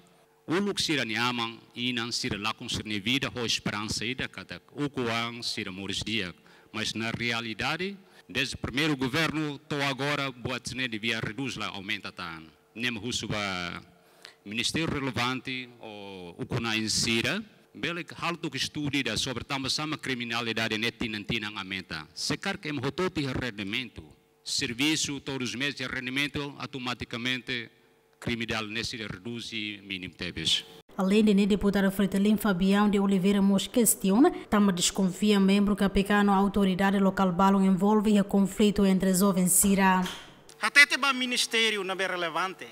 Uluk sira-nia aman, inan sira lakon sira-nia vida ho esperansa ida katak ukun-an sira moris di'ak. Mas na realidade, dezde primeiru governu to'o agora, buat ne'e devia redús, la aumenta tan. Ne'e mak husu ba ministériu relevante ou ukun-na'in sira, bele halo tok estudu ida sobre tanba sá mak kriminalidade ne'e tinan-tinan aumenta. Se karik ema hotu-hotu iha rendimentu, servisu todos os meses iha rendimentu, automatikamente kriminalidade ne'e sei redús i mínimu tebes. Aleinde ne'e, deputadu Fretilin Fabião de Oliveira mós kestiona, tanba deskonfia membru K P K no autoridade lokál balun envolve iha konflitu entre joven sira. Hatete ba ministériu ne'ebé relevante,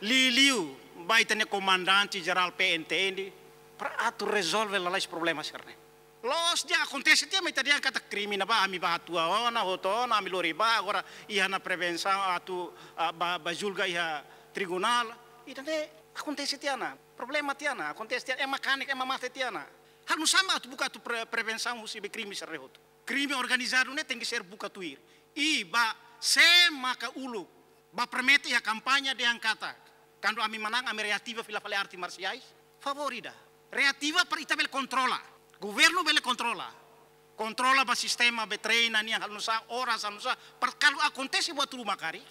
liuliu ba ita-nia komandante jerál P N T N, para atu rezolve lalais problema sira-ne'e. Loos, di'ak, akontese tiha, mas ita dehan katak krime ne'ebá, ami bá hato'o ona, hotu ona, ami lori bá, agora iha ona prevensaun atu, ah, bá, bá julga iha tribunál. Ida-ne'e akontese tiha ona, problema tiha ona, akontese tiha ona, ema kanek, ema mate tiha ona. Halo nusá mak atu buka atu pre-, prevensaun husi be krime sira-ne'e hotu. Krime organizadu ne'e tenke ser buka tuir. I ba sé maka uluk ba promete iha kampaña dehan katak, kuandu ami manán, ami reativa fila fali arte marsiais. Favór ida. Reativa para ita bele kontrola. Governu bele kontrola. Kontrola ba sistema be treina nian, halo nusá, oras halo nusá. Para kuandu akontese buat ruma karik,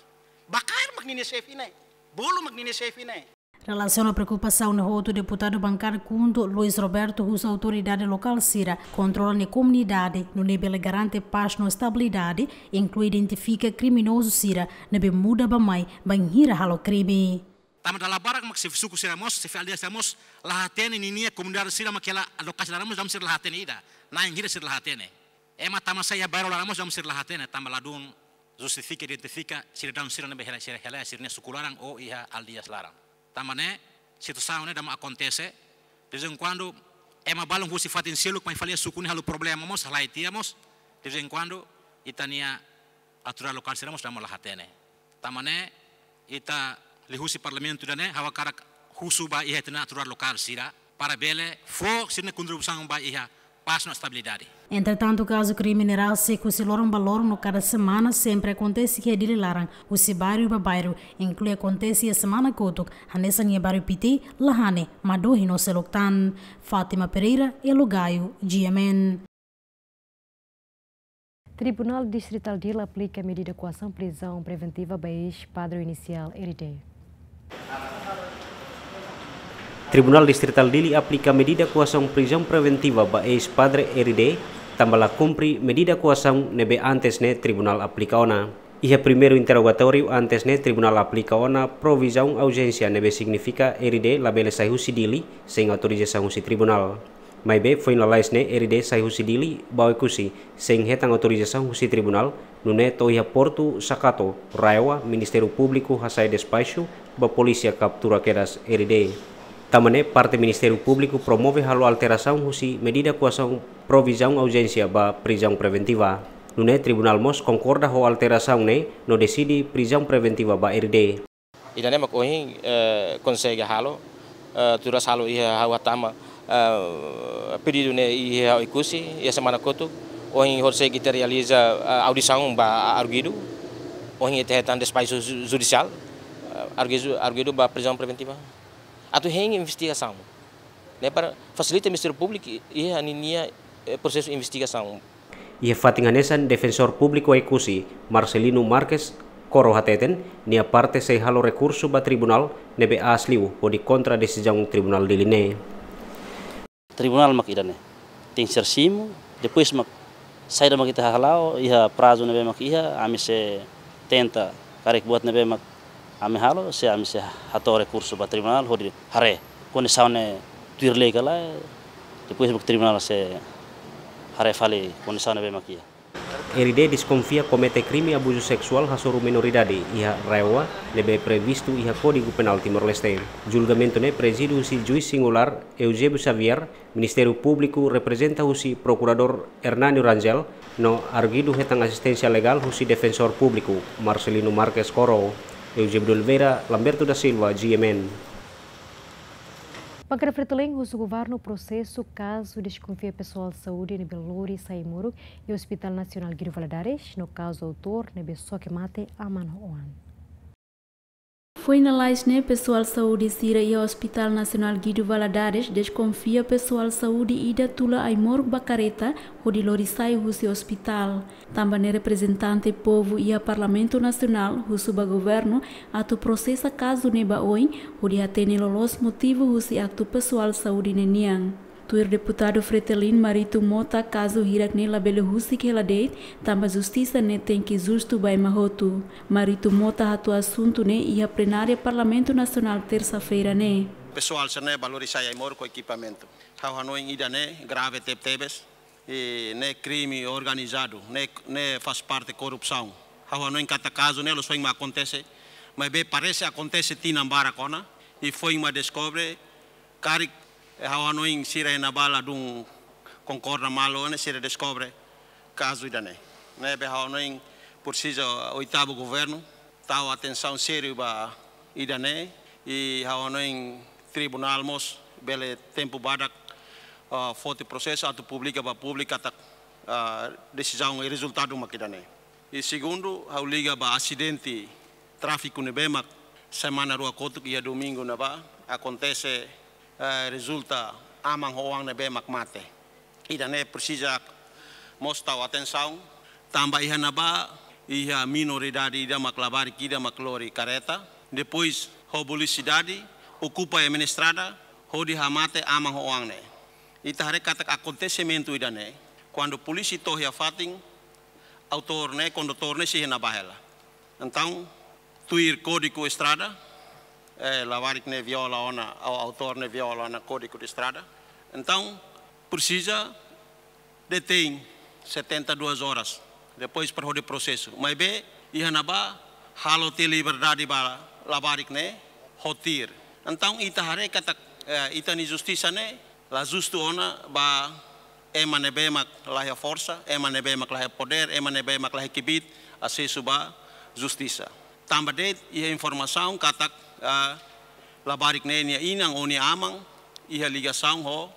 ba kaer mak ninia xefe ne'e. Bolu mak ninia xefe ne'e. Relasiona preokupasaun ne'e hotu, deputadu bankada KHUNTO Luis Roberto husu autoridade lokál sira kontrola nia komunidade, nune'e bele garante pás no estabilidade, inklui identifika kriminozu sira ne'ebé muda bá-mai bainhira halo krime. Tanba dala barak mak xefe suku sira mós, xefe aldeia sira mós la hatene ninia komunidade sira mak hela lokasi laran mós, dala ruma sira la hatene ida. Na'in hira sira la hatene. Ema tama sai iha bairru laran mós, dala ruma sira la hatene, tanba ladún justifika, identifika sidadaun sira ne'ebé hela, sira hela sira-nia suku laran ou iha aldeias laran. Tanba ne'e, situasaun ne'e dala ruma akontese. De vez em quando, ema balun husi fatin seluk mai fali iha suku ne'e halo problema mós, halai tiha mós. De vez em quando, ita-nia autoridade lokál sira mós dala ruma la hatene. Tanba ne'e, ita liuhusi parlamentu ida-ne'e, ha'u hakarak husu ba iha ita-nia autoridade lokál sira, para bele fó sira-nia kontribuisaun ba iha pás no estabilidade. Entretantu, kazu krime ne'e rasik husi loron ba loron no kada semana sempre akontese iha Dili laran, husi bairru ba bairru, inklui akontese iha semana kotuk, hanesan iha bairru Piti, Lahane, Madohi no seluk tan. Fátima Pereira, Elo Gaio, G M N. Tribunál Distritál Dili aplika medida koasaun prizaun preventiva ba eis-padre inisiál R D. Tribunál Distritál Dili aplika medida koasaun prizaun preventiva ba eis-padre R D, tanba la kumpre medida koasaun ne'ebé antes ne'e tribunál aplika ona. Iha primeiru interrogatóriu antes ne'e tribunál aplika ona provizaun aujénsia ne'ebé signifika R D labele sai husi Dili sein autorizasaun husi tribunál. Maibé foin lalais ne'e R D sai husi Dili ba Oekusi sein hetan autorizasaun husi tribunál, nune'e to'o iha portu Sakato, RAEOA, Ministériu Públiku hasai despaxu ba polísia kaptura kedas R D. Tanba ne'e parte Ministériu Públiku promove halo alterasaun husi medida koasaun provizaun aujénsia ba prizaun preventiva. Nune'e tribunál mós konkorda ho alterasaun ne'e no deside prizaun preventiva ba R D. Ida-ne'e mak ohin, eh, konsege halo, eh, turas halo iha ha'u hatama, eh, pedidu ne'e iha ha'u Oekusi, iha semana kotuk, ohin horisehik ita realiza, eh, audisaun ba arguidu, ohin ita hetan despaxu ju-, judisiál, eh, arguidu, arguidu ba prizaun preventiva. Atu hein investigasaun. Ne'e para fasilita Ministériu Públiku iha ninia, eh, prosesu investigasaun. Iha fatin hanesan, Defensór Públiku Oekusi, Marcelino Marques Coro hateten, nia parte sei halo rekursu ba tribunál ne'ebé aas liu hodi kontra desizaun Tribunál Dili ne'e. Tribunál mak ida-ne'e. Tenke ser simu, depois mak saida mak ita hala'o, iha prazu ne'ebé mak iha, ami sei tenta karik buat ne'ebé mak ami halo, se ami sei hato'o rekursu ba tribunál hodi haree kondisaun ne'e tuir lei ka lae, depois mak tribunál sei haree fali kondisaun ne'ebé mak iha. R D deskonfia komete krime abuzu seksuál hasoru menoridade iha RAEOA ne'ebé previstu iha Kódigu Penál Timor-Leste. Julgamentu ne'e prezidu husi juís singulár Eusébio Xavier, Ministériu Públiku reprezenta husi Prokuradór Hernani Rangel, no arguidu hetan asisténsia legál husi Defensór Públiku, Marcelino Marques Coro. Eusébio de Oliveira, Lamberto da Silva, G M N. Bankada Fretilin husu governu prosesu kazu deskonfia pesoál saúde ne'ebé lori sai ai-moruk iha Hospital Nasionál Guido Valadares, no kazu autór ne'ebé xoke mate aman ho oan. Foin lalais ne'e, pesoál saúde sira iha Hospital Nasionál Guido Valadares deskonfia pesoál saúde ida tula ai-moruk ba kareta hodi lori sai husi ospitál. Tanba ne'e, reprezentante povu iha Parlamentu Nasionál husu ba governu atu prosesa kazu ne'e ba oin, hodi hatene loloos motivu husi aktu pesoál saúde ne'e nian. Tuir deputadu Fretilin Marito Mota, kazu hirak ne'e labele husik hela de'it, tanba justisa ne'e tenke justu ba ema hotu. Marito Mota hato'o asuntu ne'e iha plenária Parlamentu Nasionál, tersa-feira ne'e. Pesoál sira-ne'e ba lori sai ai-moruk ho ekipamentu. Ha'u hanoin ida-ne'e grave tebetebes, i ne'e krime organizadu, ne'e, ne'e faz parte korrupsaun. Ha'u hanoin katak kazu ne'e loos foin mak akontese, maibé parese akontese tinan barak ona, i foin mak deskobre, karik, eh, ha'u hanoin sira iha ne'ebá ladún konkorda malu, ne'e sira deskobre kazu ida-ne'e. Ne'ebé ha'u hanoin presiza oitavu governu tau atensaun sériu ba ida-ne'e, i ha'u hanoin tribunál mós bele tempu badak, ah, foti prosesu atu publika ba públiku katak, ah, desizaun i rezultadu mak ida-ne'e. I segundu, ha'u liga ba asidente tráfiku ne'ebé mak semana rua kotuk iha domingu ne'ebá akontese, eh, rezulta aman ho oan ne'ebé mak mate. Ida-ne'e presiza mós tau atensaun, tanba iha ne'ebá iha menoridade ida mak labarik ida mak lori kareta, depois ho velosidade okupa iha estrada, hodi hamate aman ho oan ne'e. Ita haree katak akontesimentu ida-ne'e, kuandu polísia to'o iha fatin, autór ne'e, kondutór ne'e sei iha ne'ebá hela. Entaun, tuir Kódigu Estrada, eh, labarik ne'e viola ona, au-, autór ne'e viola ona Kódigu de Estrada. Entaun, presiza detein setenta e duas horas, depois para hodi prosesu. Maibé, iha ne'ebá halo tiha liberdade ba labarik ne'e ho tuir. Entaun, ita haree katak, eh, ita-nia justisa ne'e la justu ona ba ema ne'ebé mak laiha forsa, ema ne'ebé mak laiha podér, ema ne'ebé mak laiha kbiit asesu ba justisa. Tanba de'it iha informasaun katak, ah, labarik ne'e nia inan ou nia aman iha ligasaun ho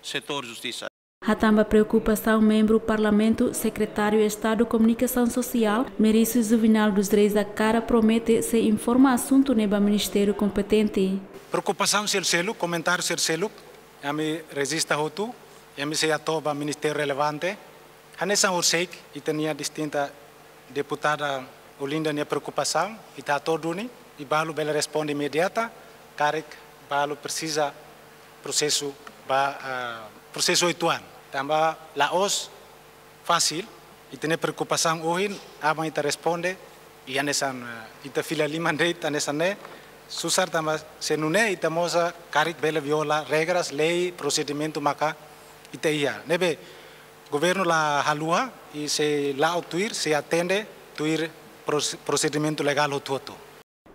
setór justisa. Hatán ba preokupasaun membru Parlamentu, Sekretáriu Estadu Komunikasaun Sosiál, Merício Juvenal dos Reis Acara, promete sei informa asuntu ne'e ba ministériu kompetente. Preokupasaun seluk-seluk, komentáriu seluk-seluk, ami rejista hotu, ami sei hato'o ba ministériu relevante. Hanesan orsida ita-nia distinta deputada Olinda nia preokupasaun, ita hato'o duni, i balu bele responde imediata, karik balu presiza prosesu ba, ah, prosesu oituan. Tanba la'ós fasil, ita-nia preokupasaun ohin, aban ita responde, i hanesan, eh, ita fila liman de'it hanesan ne'e, susar tanba se nune'e ita mós karik bele viola regras, lei, prosedimentu maka ita iha. Ne'ebé, governu la haluha, i sei la'o tuir, sei atende tuir pros-, prosedimentu legál hotu-hotu.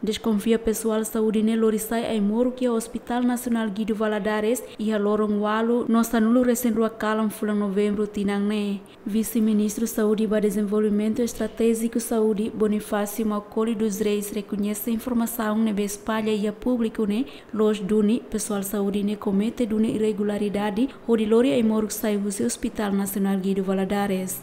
Deskonfia pesoál saúde ne'e lori sai ai-moruk iha Hospital Nasionál Guido Valadares iha loron ualu no sanulu resin rua kalan fulan Novembru tinan ne'e. Vise-Ministru Saúde ba Dezenvolvimentu Estratéjiku Saúde, Bonifácio Macaulay dos Reis, rekoñese informasaun ne'ebé espalla iha públiku ne'e, loos duni pesoál saúde ne'e komete duni irregularidade hodi lori ai-moruk sai husi Hospital Nasionál Guido Valadares.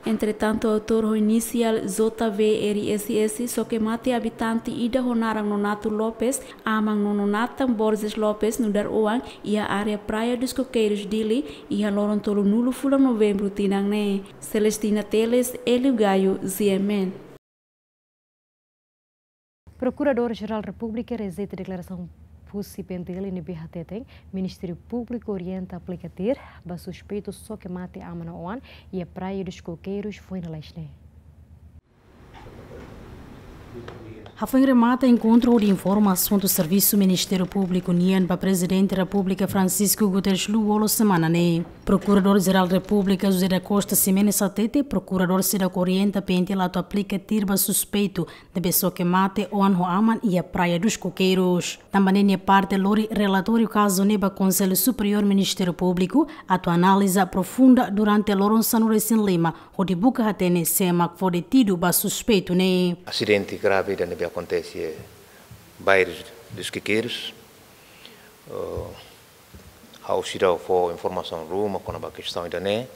Entretantu, autór ho inisiál J V R S S soke mate abitante ida ho naran Nonato Lopes, aman no Nonatan Borges Lopes nu'udar oan, iha área Praia dos Coqueiros, Dili, iha loron tolunulu fulan Novembru tinan ne'e. Celestina Teles, Hélio Gaio, G M N. Prokuradór-Jerál Repúblika rejeita deklarasaun husi P N T L ne'ebé hateten Ministériu Públiku orienta aplika TIR ba suspeitu soke mate aman no oan iha Praia dos Coqueiros, foin lalais ne'e. Hafoin remata enkontru hodi informa asuntu servisu Ministériu Públiku nian ba Prezidente Repúblika Francisco Guterres Lú Olo semana ne'e, Prokuradór-Jerál Repúblika José da Costa Ximenes hatete prokuradór seidauk orienta P N T L atu aplika TIR ba suspeitu ne'ebé soke mate oan ho aman iha Praia dos Coqueiros. Tanba ne'e nia parte lori relatóriu kazu ne'e ba Konsellu Superiór Ministériu Públiku atu analiza aprofunda durante loron sanulu resin lima, hodi buka hatene sé mak fó detidu ba suspeitu ne'e. Asidente grave ida ne'ebé akontese iha Praia dos Coqueiros. Eh, ha'u seidauk fó informasaun ruma kona-ba kestaun ida-ne'e.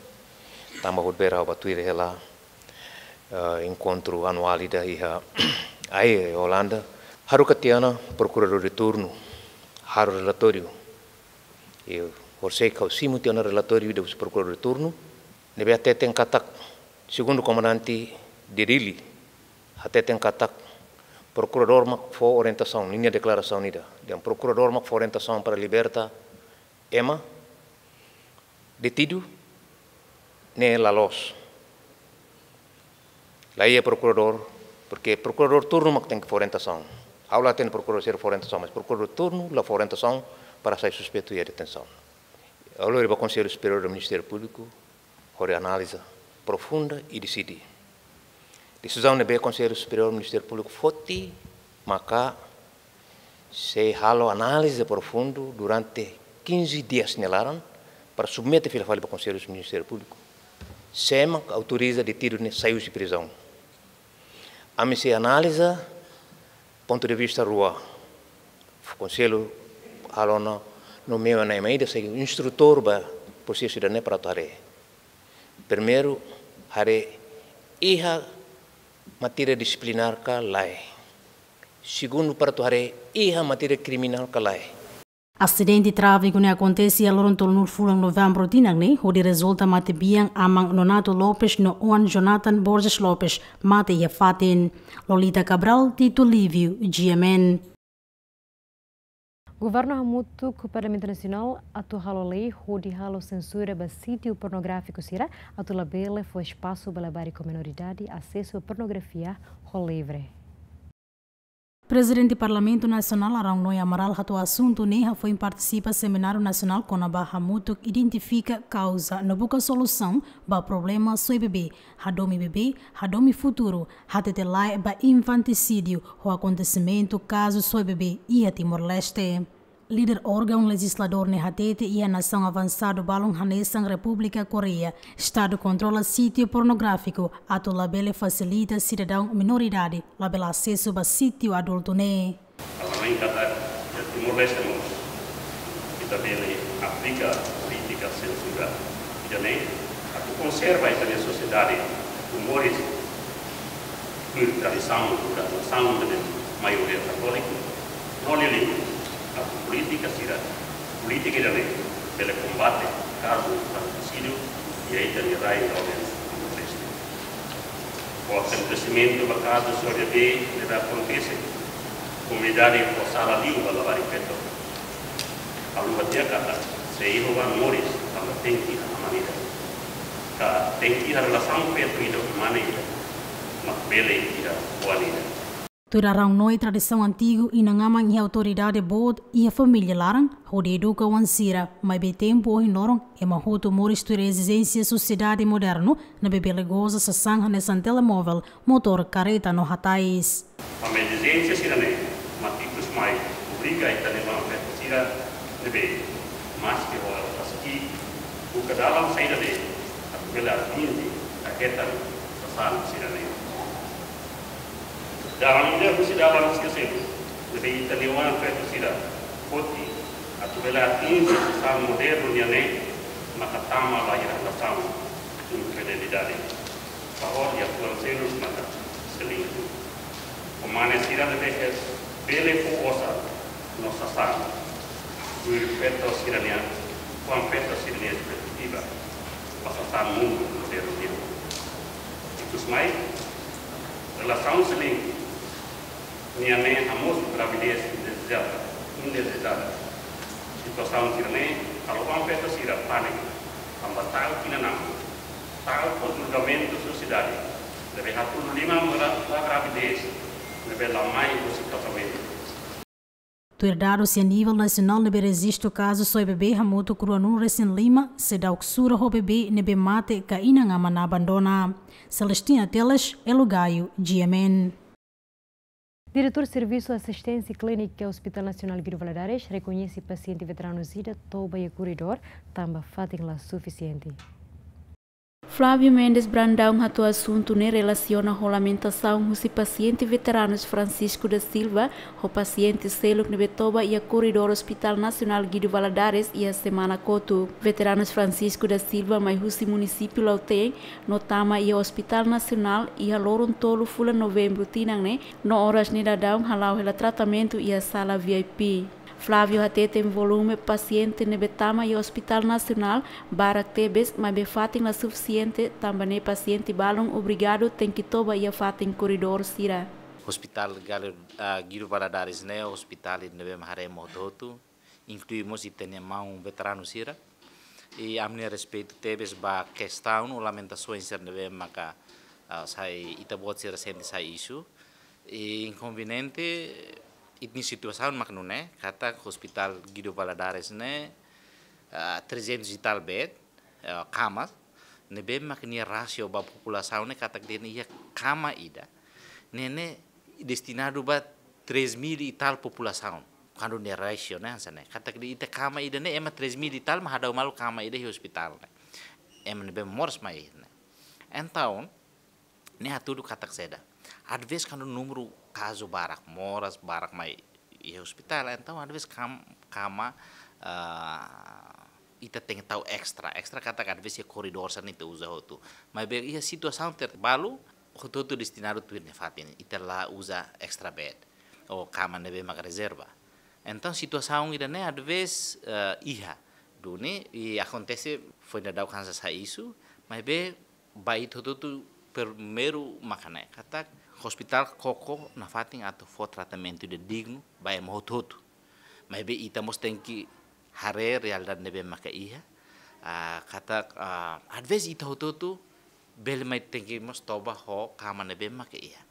Tanba horibainrua ha'u bá tuir hela, eh, enkontru anuál ida iha Hague, Olanda. Haruka tiha ona prokuradór de turnu halo relatóriu. I horisehik ha'u simu tiha ona relatóriu ida husi prokuradór de turnu ne'ebé hateten katak, segundu komandante de Dili, hateten katak prokuradór mak fó orientasaun, ninia deklarasaun ida dehan prokuradór mak fó orientasaun para liberta ema detidu ne'e la loos. La iha prokuradór, porque prokuradór turnu mak tenke fó orientasaun. Ha'u la hatene prokuradór sira fó orientasaun, mas prokuradór turnu la fó orientasaun para sai suspeitu iha detensaun. Ha'u lori ba Konsellu Superiór do Ministériu Públiku hodi analiza aprofunda i deside. Desizaun ne'ebé Konsellu Superiór Ministériu Públiku foti maka sei halo análize profundu durante quinze dias nia laran para submete fila fali ba Konsellu Ministériu Públiku. Sé mak autoriza detidu ne'e sai husi prizaun. Ami sei analiza pontu de vista rua. Konsellu halo ona, nomeia ona ema ida sai instrutór ba prosesu ida-ne'e para atu haree. Primeiru, haree iha matéria disiplinár ka lae. Segundu, para atu haree iha matéria kriminál ka lae. Asidente tráfiku ne'e akontese iha loron tolunulu fulan Novembru tinan ne'e, hodi rezulta mate bian aman Nonato Lopes no oan Jonathan Borges Lopes mate iha fatin. Lolita Cabral, Tito Lívio, G M N. Governu hamutuk ho Parlamentu Nasionál atu halo lei hodi halo sensura ba sítiu pornográfiku sira atu labele fó espasu ba labarik ho menoridade asesu pornografia ho livre. Prezidente Parlamentu Nasionál Araújo Noé Amaral hato'o asuntu ne'e hafoin partisipa semináriu nasionál kona-ba hamutuk identifika kauza no buka solusaun ba problema soe bebé, hadomi bebé, hadomi futuru, hatete lae ba infantisídiu ho akontesimentu kazu soe bebé iha Timor-Leste. Líder órgaun lejizladór ne'e hatete iha nasaun avansadu balun hanesan Repúblika Koreia, Estadu kontrola sítiu pornográfiku atu labele fasilita sidadaun menoridade labele asesu ba sítiu adultu ne'e. Além katak iha Timor-Leste mós ita bele aplika polítika sensura ida-ne'e atu konserva ita-nia sosiedade, moris tuir tradisaun, tuir tradisaun ne'ebé maioria katóliku. No liuliu atu polítika sira, polítika ida-ne'e bele kombate kazu infantisídiu iha ita-nia rai Timor-Leste. Ho akontesimentu ba kazu soe bebé ne'ebé akontese, komunidade fó sala liu ba labarik feto. Haluha tiha katak sei iha oan moris tanba tenke iha aman ida, ka tenke iha relasaun feto ida ho mane ida, mak bele iha oan ida. Tuir Araújo Noé, tradisaun antigu inan-aman iha autoridade boot iha família laran hodi eduka oan sira, maibé tempu ohin loron ema hotu moris tuir ezijénsia sosiedade modernu ne'ebé bele goza sasán hanesan telemovel, motór, karreta no hatais. Ami ezijénsia sira-ne'e Mai obriga ita-nia oan-feto sira ne'ebé maske ho ela rasik, buka dalan saida de'it atu bele atinje hetan sasán sira-ne'e. Dalan ida husi dalan sira seluk ne'ebé ita-nia oan-feto sira foti atu bele atinje sasán modernu nian ne'e maka tama ba iha relasaun infidelidade. Bahwa iha fuan seluk maka selingkuh. Ho mane sira ne'ebé bele fó osan no sasán, tuir feto sira-nia, oan-feto sira-nia perspektiva ba sasán mundu modernu nian. Ikusmai, relasaun selingkuh nian ne'e hamosu gravidez indezejada, indezejada. Situasaun sira-ne'e halo oan-feto sira pániku, tanba ta'uk inan-aman, ta'uk ho julgamentu sosiedade, ne'ebé hatún liman ba gravidez ne'ebé la mai husi kazamentu. Tuir dadus iha nivel nasionál ne'ebé rejistu kazu soe bebé hamutuk ruanulu-resin-lima, seidauk sura ho bebé ne'ebé mate ka inan-aman abandona. Celestina Teles, Elo Gaio, G M N. Diretór Servisu Asisténsia Klínika Hospital Nasionál Guido Valadares rekoñese pasiente veteranu sira toba iha koridór tanba fatin la sufisiente. Flávio Mendes Brandão hato'o asuntu ne'e relasiona ho lamentasaun husi pasiente veteranus Francisco da Silva ho pasiente seluk ne'ebé toba iha koridór Hospital Nasionál Guido Valadares iha semana kotuk. Veteranus Francisco da Silva mai husi munisípiu Lautém no tama iha Hospital Nasionál iha loron tolu fulan Novembru tinan ne'e, no oras ne'e daudaun hala'o hela tratamentu iha sala V I P. Flávio hateten volume pasiente ne'ebé tama iha Hospital Nasionál barak tebes, maibé fatin la sufisiente, tanba ne'e pasiente balun obrigadu tenke toba iha fatin koridór sira. Hospital Gal-, ah, Guido Valadares ne'e hospital ne'ebé mak haree ema hotu-hotu, inklui mós ita-nia maun veteranu sira. I ami-nia respeitu tebes ba kestaun no lamentasaun sira ne'ebé maka, ah, sai, ita-boot sira sente sai isu. I inkonveniente, ita-nia situasaun mak nune'e, katak Hospital Guido Valadares ne'e, ah, trezentos e tal bed, ah, kamas, ne'ebé mak nia rasio ba populasaun ne'e katak dehan iha kama ida ne'e, ne'e destinadu ba três mil e tal populasaun. Kuandu nia rasio ne'e hanesan ne'e, katak dehan ita kama ida ne'e ema três mil e tal mak hadau malu kama ida iha hospital ne'e. Ema ne'ebé moras mai ne'e. Entaun, ne'e hatudu katak saida. Às vezes kuandu númeru kazu barak, moras barak mai iha hospital, entaun às vezes kam-, kama, ah, ita tenke tau extra. Extra katak às vezes iha koridór sira-ne'e ita uza hotu. Maibé iha situasaun terbalu, hotu-hotu destinadu tuir nia fatin. Ita la uza extra bed ou kama ne'ebé maka rezerva. Entaun situasaun ida-ne'e às vezes, eh, iha. Duni, i akontese foin daudauk hanesan sai isu, maibé ba ita hotu-hotu primeiru maka ne'e, katak hospital koko nafatin atu fó tratamentu ida dignu ba ema hotu-hotu. Maibé ita mós tenke haree realidade ne'ebé maka iha, ah, katak, ah, às vezes ita hotu-hotu bele mai tenke mós toba ho kama ne'ebé maka iha.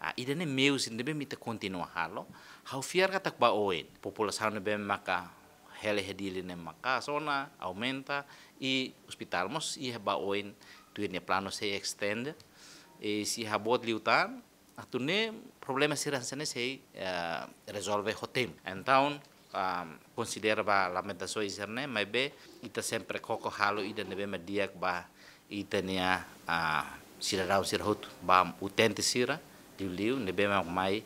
Ah, ida-ne'e meius ne'ebé mak ita kontinua halo. Ha'u fiar katak ba oin populasaun ne'ebé maka hela iha Dili ne'e maka'as ona, aumenta, i hospital mós iha ba oin tuir nia planu sei extend. I se iha boot liután, atu nune'e problema sira hanesan ne'e sei, eh, rezolve ho tempu. Entaun, ah, konsidera ba lamentasaun sira-ne'e, maibé ita sempre koko halo ida ne'ebé mak di'ak ba ita-nia, ah, sidadaun sira hotu, ba utente sira, liuliu ne'ebé mak mai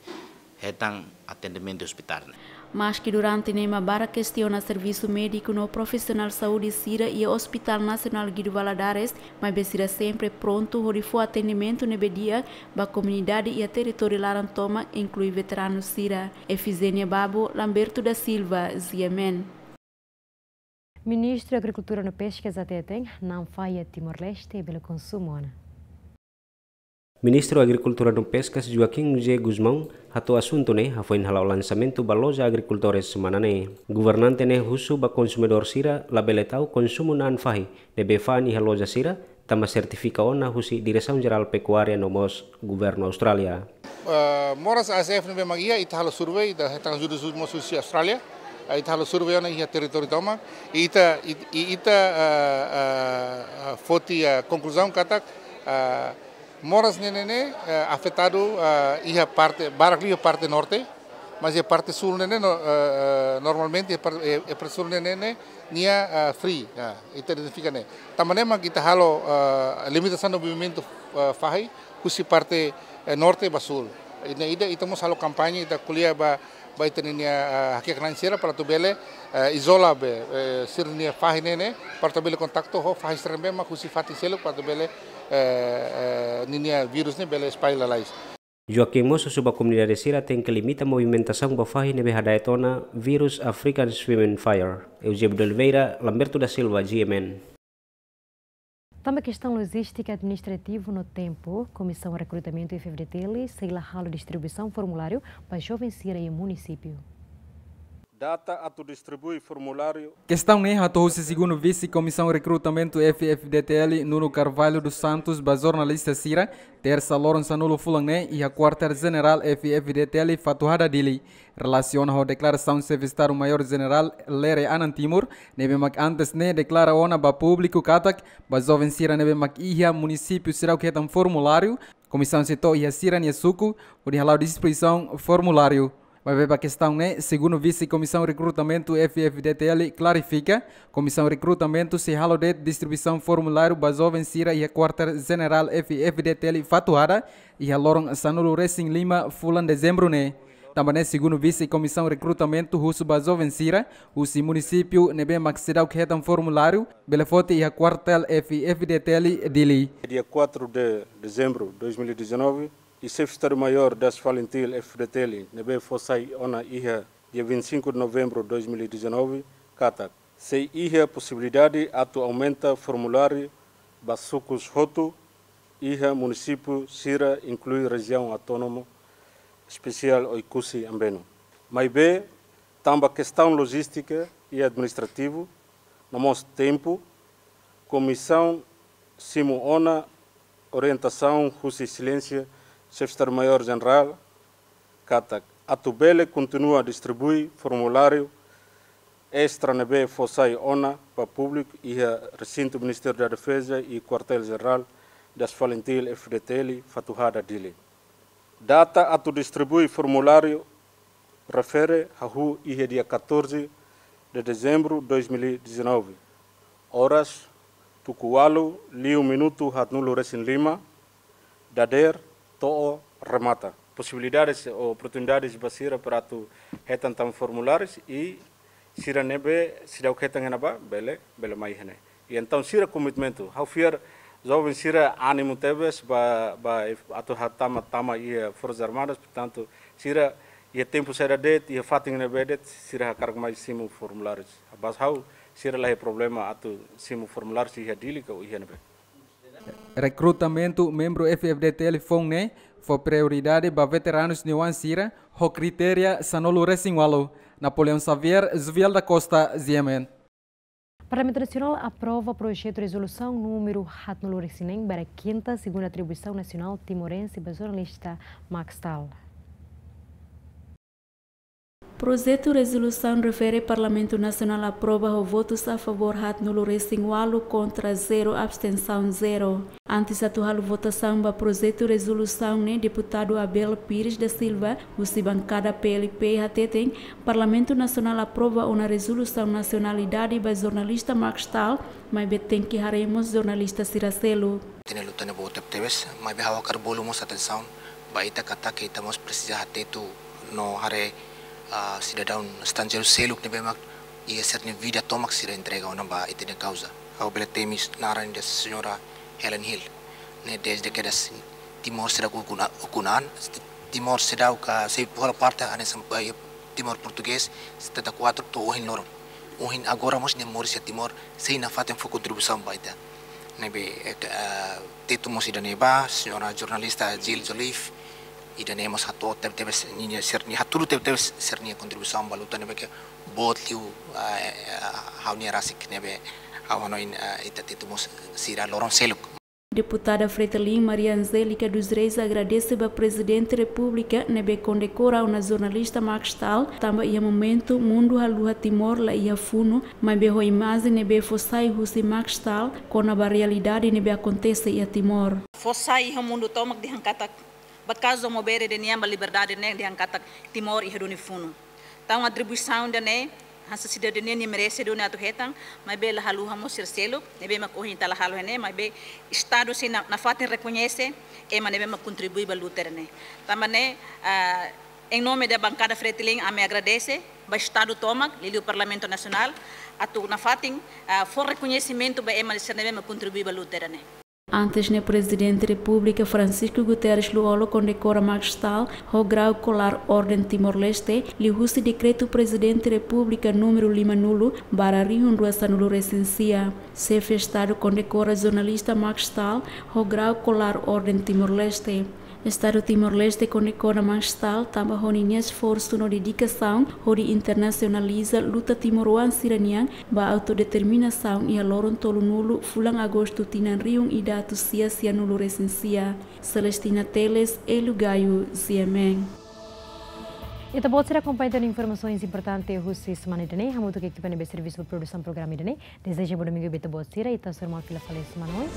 hetan atendimentu hospital ne'e. Maske durante ne'e ema barak kestiona servisu médiku no profisionál saúde sira iha Hospital Nasionál Guido Valadares, maibé sira sempre prontu hodi fó atendimentu ne'ebé di'ak ba komunidade iha territóriu laran tomak, inklui veteranu sira. Efizénia Babo, Lamberto da Silva, G M N. Ministru Agrikultura no Peskas hateten, na'an fahi iha Timor-Leste bele konsumu ona. Ministru Agrikultura no Peskas Joaquim José Gusmão hato'o asuntu ne'e hafoin hala'o lansamentu ba loja agrikultores semana ne'e. Governante ne'e husu ba konsumidór sira labele tau konsumu na'an fahi ne'ebé fa'an iha loja sira, tanba sertifika ona husi Diresaun Jerál Pekuária no mós Governu Austrália. Eh, moras A S F ne'ebé mak iha, ita halo survei, ita hetan ajuda husi, mós husi Austrália. Eh, ita halo survei ona iha territóriu tomak. I ita, i, i ita, eh, eh, eh, foti, eh, konkluzaun katak, eh, moras ne'e ne'e, eh, afetadu, eh, iha parte, barak liu iha parte norte. Mas iha parte súl ne'e ne'e, no, eh, eh, normalmente iha par-, eh, eh, parte súl ne'e ne'e, ne'e nia, eh, free. Ah, ita identifika ne'e. Tanba ne'e mak ita halo, eh, limitasaun movimentu, eh, fahi husi parte, eh, norte ba súl. Ida-ne'e ita mós halo kampaña, ita ko'alia ba, ba ita-nia, eh, hakiak-na'in sira para atu bele, eh, izola be, eh, sira-nia fahi ne'e ne'e, para atu bele kontaktu ho fahi sira ne'ebé mak husi fatin seluk para atu bele, eh, eh, ninia vírus ne'e bele espalla lalais. Joaquim mós husu ba komunidade sira tenke limita movimentasaun ba fahi ne'ebé hada'et ona vírus African Swine Fever. Eusébio de Oliveira, Lamberto da Silva, G M N. Tanba kestaun lojístika, administrativu no tempu, Komisaun Rekrutamentu F F D T L sei la halo distribuisaun formuláriu ba joven sira iha munisípiu. Data atu distribui formuláriu. Kestaun ne'e hato'o husi Segundu Vise Komisaun Rekrutamentu F F D T L, Nuno Carvalho dos Santos, ba jornalista sira, tersa loron sanulu fulan ne'e, iha Kuartél Jenerál F F D T L Fatuhada, Dili. Relasiona ho deklarasaun Xefe Estadu Maiór Jenerál Lere Anan Timur, ne'ebé mak antes ne'e deklara ona ba públiku katak, ba joven sira ne'ebé mak iha munisípiu seidauk hetan formuláriu, komisaun sei to'o iha sira-nia suku, hodi hala'o distribuisaun formuláriu. Maibé ba kestaun ne'e, Segundu Vise Komisaun Rekrutamentu F F D T L klarifika, Komisaun Rekrutamentu sei halo de'it distribuisaun formuláriu ba joven sira iha Kuartél Jenerál F F D T L Fatuhada, iha loron sanulu resin lima fulan Dezembru ne'e. Tanba ne'e, Segundu Vise Komisaun Rekrutamentu husu ba joven sira husi munisípiu ne'ebé mak seidauk hetan formuláriu, bele foti iha Kuartél F F D T L Dili. Dia quatro de dezembro de dois mil e dezanove, i Xefe Estadu Maiór das FALINTIL F F D T L, ne'ebé fó sai ona iha dia vinte e cinco de novembro de dois mil e dezanove, katak sei iha posibilidade atu aumenta formuláriu ba sukus hotu iha munisípiu sira, inklui Rejiaun Autónoma Espesiál Oekusi Ambeno. Maibé, tanba kestaun lojístika i administrativu, no mós tempu, komisaun simu ona orientasaun husi Exelénsia Xefe Estadu Maiór Jenerál, katak atu bele kontinua distribui formuláriu estra ne'ebé fó sai ona ba públiku iha resintu Ministériu da Defeza i Kuartél Jenerál das FALINTIL F F D T L Fatuhada, Dili. Data atu distribui formuláriu refere hahú iha dia catorze de dezembro de dois mil e dezanove, oras tuku ualu liu minutu haatnulu resin lima, dadeer to'o remata. Posibilidades ou oportunidades ba sira para atu hetan tan formulárius i sira ne'ebé seidauk hetan iha ne'ebá, bele, bele mai iha ne'e. I entaun sira komitmentu, ha'u fiar joven sira ánimu tebes ba, ba atu hatama, tama iha Forsas Armadas, portantu, sira iha tempu saida de'it, iha fatin ne'ebé de'it, sira hakarak mai simu formulárius. Bas ha'u, sira la iha problema atu simu formulárius iha Dili ka iha ne'ebé. Rekrutamentu membru F F D T L foun ne'e fó prioridade ba veteranus nia oan sira ho kritéria sanulu resin ualu. Napoleão Xavier, Zuviel da Costa, G M N. Parlamentu Nasionál aprova projetu rezolusaun númeru haatnulu resin neen ba kinta segundu atribuisaun nasionál timorense ba jornalista Max Stahl. Projetu rezolusaun refere Parlamentu Nasionál aprova ho votus a favór haatnulu resin ualu, kontra zero, abstensaun zero. Antes atu halo votasaun ba projetu rezolusaun ne'e, Deputadu Abel Pires da Silva, husi bankada P L P, hateten Parlamentu Nasionál aprova ona rezolusaun nasionalidade ba jornalista Max Stahl, maibé tenke haree mós jornalista sira seluk. Ita-nia luta ne'e boot tebetebes, maibé ha'u hakarak bolu mós atensaun ba ita katak ita mós presiza hateten no haree, ah, sidadaun estranjeiru seluk ne'ebé mak iha sira-nia vida tomak sira entrega ona ba ita-nia kauza. Ha'u bele temi naran ida señora Helen Hill. Ne'e dezde kedas Timor seidauk ukun-, ukun an, Timor seidauk, ah, sei hola parte hanesan, eh, Timor Portugés, setenta e quatro to'o ohin loron. Ohin agora mós nia moris iha Timor, sei nafatin fó kontribuisaun ba ita. Ne'ebé, eh, ke-, eh, tetun mós ida-ne'e ba, señora jornalista Jill Joliffe, ida-ne'e mós hato'o tebetebes ninia sira-nia, hatudu tebetebes sira-nia kontribuisaun ba luta ne'ebé ke boot liu, eh, eh, ha'u-nia rasik ne'ebé ha'u hanoin, eh, ita tetun mós sira loron seluk. Deputada Fretilin Maria Angélica dos Reis agradese ba Prezidente Repúblika ne'ebé kondekora ona jornalista Max Stahl, tanba iha momentu mundu haluha Timor la iha funu, maibé ho imajen ne'ebé fó sai husi Max Stahl, kona-ba realidade ne'ebé akontese iha Timor. Fó sai iha mundu tomak dehan katak ba kazu Amu Bere ida-ne'e ba liberdade ne'e dehan katak Timor iha duni funu. Entaun atribuisaun ida-ne'e hanesan sidadania nia merese duni atu hetan, maibé la haluha mós sira seluk, ne'ebé mak ohin ita la halo iha ne'e, maibé Estadu sei na, nafatin rekoñese ema ne'ebé mak kontribui ba luta ida-ne'e. Tanba ne'e, ah, em nome da bancada Fretilin, ami agradese ba Estadu tomak, liuliu Parlamentu Nasionál, atu nafatin, ah, fó rekoñesimentu ba ema sira ne'ebé mak kontribui ba luta ida-ne'e. Antes ne'e Prezidente Repúblika Francisco Guterres Lú-Olo kondekora Marc Staël ho grau kolar Orden Timor-Leste, liuhusi Dekretu Prezidente Repúblika númeru lima-nulu barra rihun rua sanulu-resin-sia. Xefe Estadu kondekora jornalista Marc Staël ho grau kolar Orden Timor-Leste. Estadu Timor-Leste kondekora Marc Staël tanba ho ninia esforsu no dedikasaun hodi internasionaliza luta timoroan sira-nian ba autodeterminasaun iha loron tolunulu fulan Agostu tinan rihun ida atus sia sianulu-resin-sia. Celestina Teles, Elu Gayo, G M N. Ita-boot sira akompaña tan informasaun importante husi semana ida-ne'e, hamutuk ho ekipa ne'ebé servisu ba produsaun programa ida-ne'e. Dezeja bom domingu ba ita-boot sira, ita sei hasoru malu fila fali semana oin.